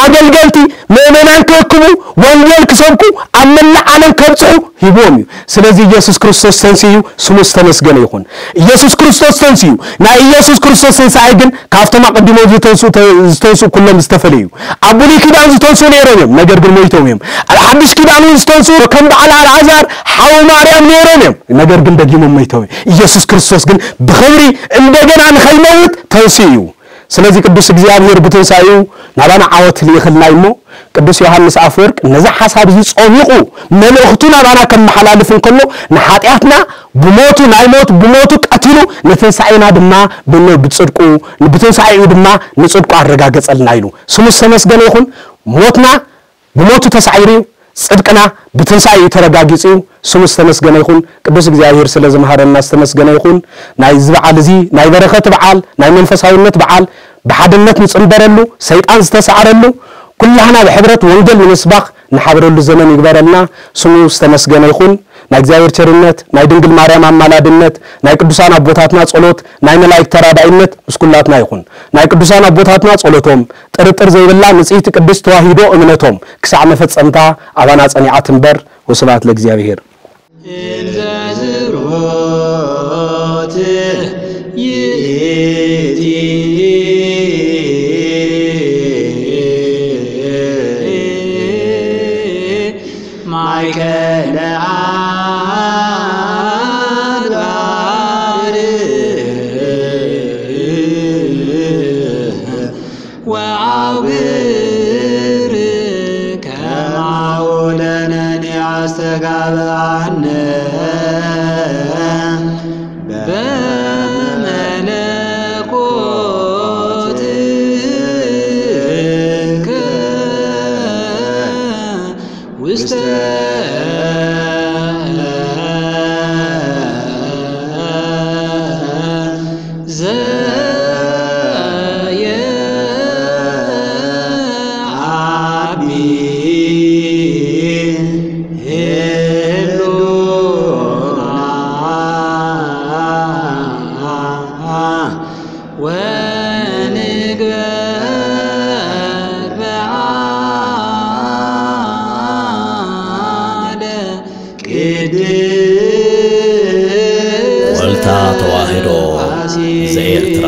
ኣገልገልቲ ምእመናን ክእክቡ፣ ወንጌል ክሰብኩ፣ ኣብ መላእ ዓለም ከብጽሑ ሂብዎም እዩ። ስለዚ ኢየሱስ ክርስቶስ ተንሲኡ፣ ስሙ ዝተመስገነ ይኹን። ኢየሱስ ክርስቶስ ተንሲኡ። ናይ ኢየሱስ ክርስቶስ ትንሳኤ ግን ካብቶም ኣቐዲሞም ዝተንስኡ፣ ተ-፣ ዝተንስኡ ኩሎም ዝተፈለዩ እዩ። ኣብ ብሉይ ኪዳን ዝተንስኡ ነይሮም እዮም፣ ነገር ግን ሞይቶም እዮም። ኣብ ሓድሽ ኪዳን እውን ዝተንስኡ ከም በዓል ኣልዓዛር ሓው ማርያም ነይሮም እዮም፣ ነገር ግን ደጊሞም ሞይቶም እዮም። ኢየሱስ ክርስቶስ ግን ብኽብሪ እንደገና ንኸይመውት ተንስኡ እዩ። ስለዚ ቅዱስ እግዚኣብሔር ብትንሳኤኡ ናባና ዓወት ልኢኽልና እዩ እሞ፣ ቅዱስ ዮሃንስ ኣፈወርቅ ነዚ ሓሳብ እዚ ጸሚቑ መልእኽቱ ናባና ከመሓላልፍ እንከሎ፣ ንሓጢኣትና ብሞቱ፣ ናይ ሞት ብሞቱ ቀቲሉ፣ ንትንሳኤና ድማ ብን-፣ ብጽድቁ፣ ብትንሳኤኡ ድማ ንጽድቁ ኣረጋገጸልና ኢሉ። ስሙ ዝተመስገነ ይኹን። ሞትና ብሞቱ ተሳዒሩ እዩ። ጽድቅና ብትንሳኤ እዩ ተረጋጊጹ እዩ። ስሙ ዝተመስገነ ይኹን። ቅዱስ እግዚኣብሔር ስለ ዝመሃረና ዝተመስገነ ይኹን። ናይዚ በዓል እዚ ናይ በረኸት በዓል፣ ናይ መንፈሳውነት በዓል፣ ብሓድነት ንጽንበረሉ፣ ሰይጣን ዝተሳዕረሉ፣ ኩላህና ብሕብረት ወንጌል ንምስባኽ ንሓብረሉ ዘመን ይግበረልና። ስሙ ዝተመስገነ ይኹን። ናይ እግዚኣብሔር ቸርነት፣ ናይ ድንግል ማርያም ኣማላድነት፣ ናይ ቅዱሳን ኣቦታትና ጸሎት፣ ናይ መላእክት ተራዳኢነት ምስ ኩላትና ይኹን። ናይ ቅዱሳን ኣቦታትና ጸሎቶም፣ ጥርጥር ዘይብላ ንጽሕቲ ቅድስት ተዋሂዶ እምነቶም ክሳዕ መፈጸምታ ኣባና ጸኒዓ ትንበር። ወስብሐት ለእግዚኣብሔር። ወልታ ተዋህዶ ዘኤርትራ።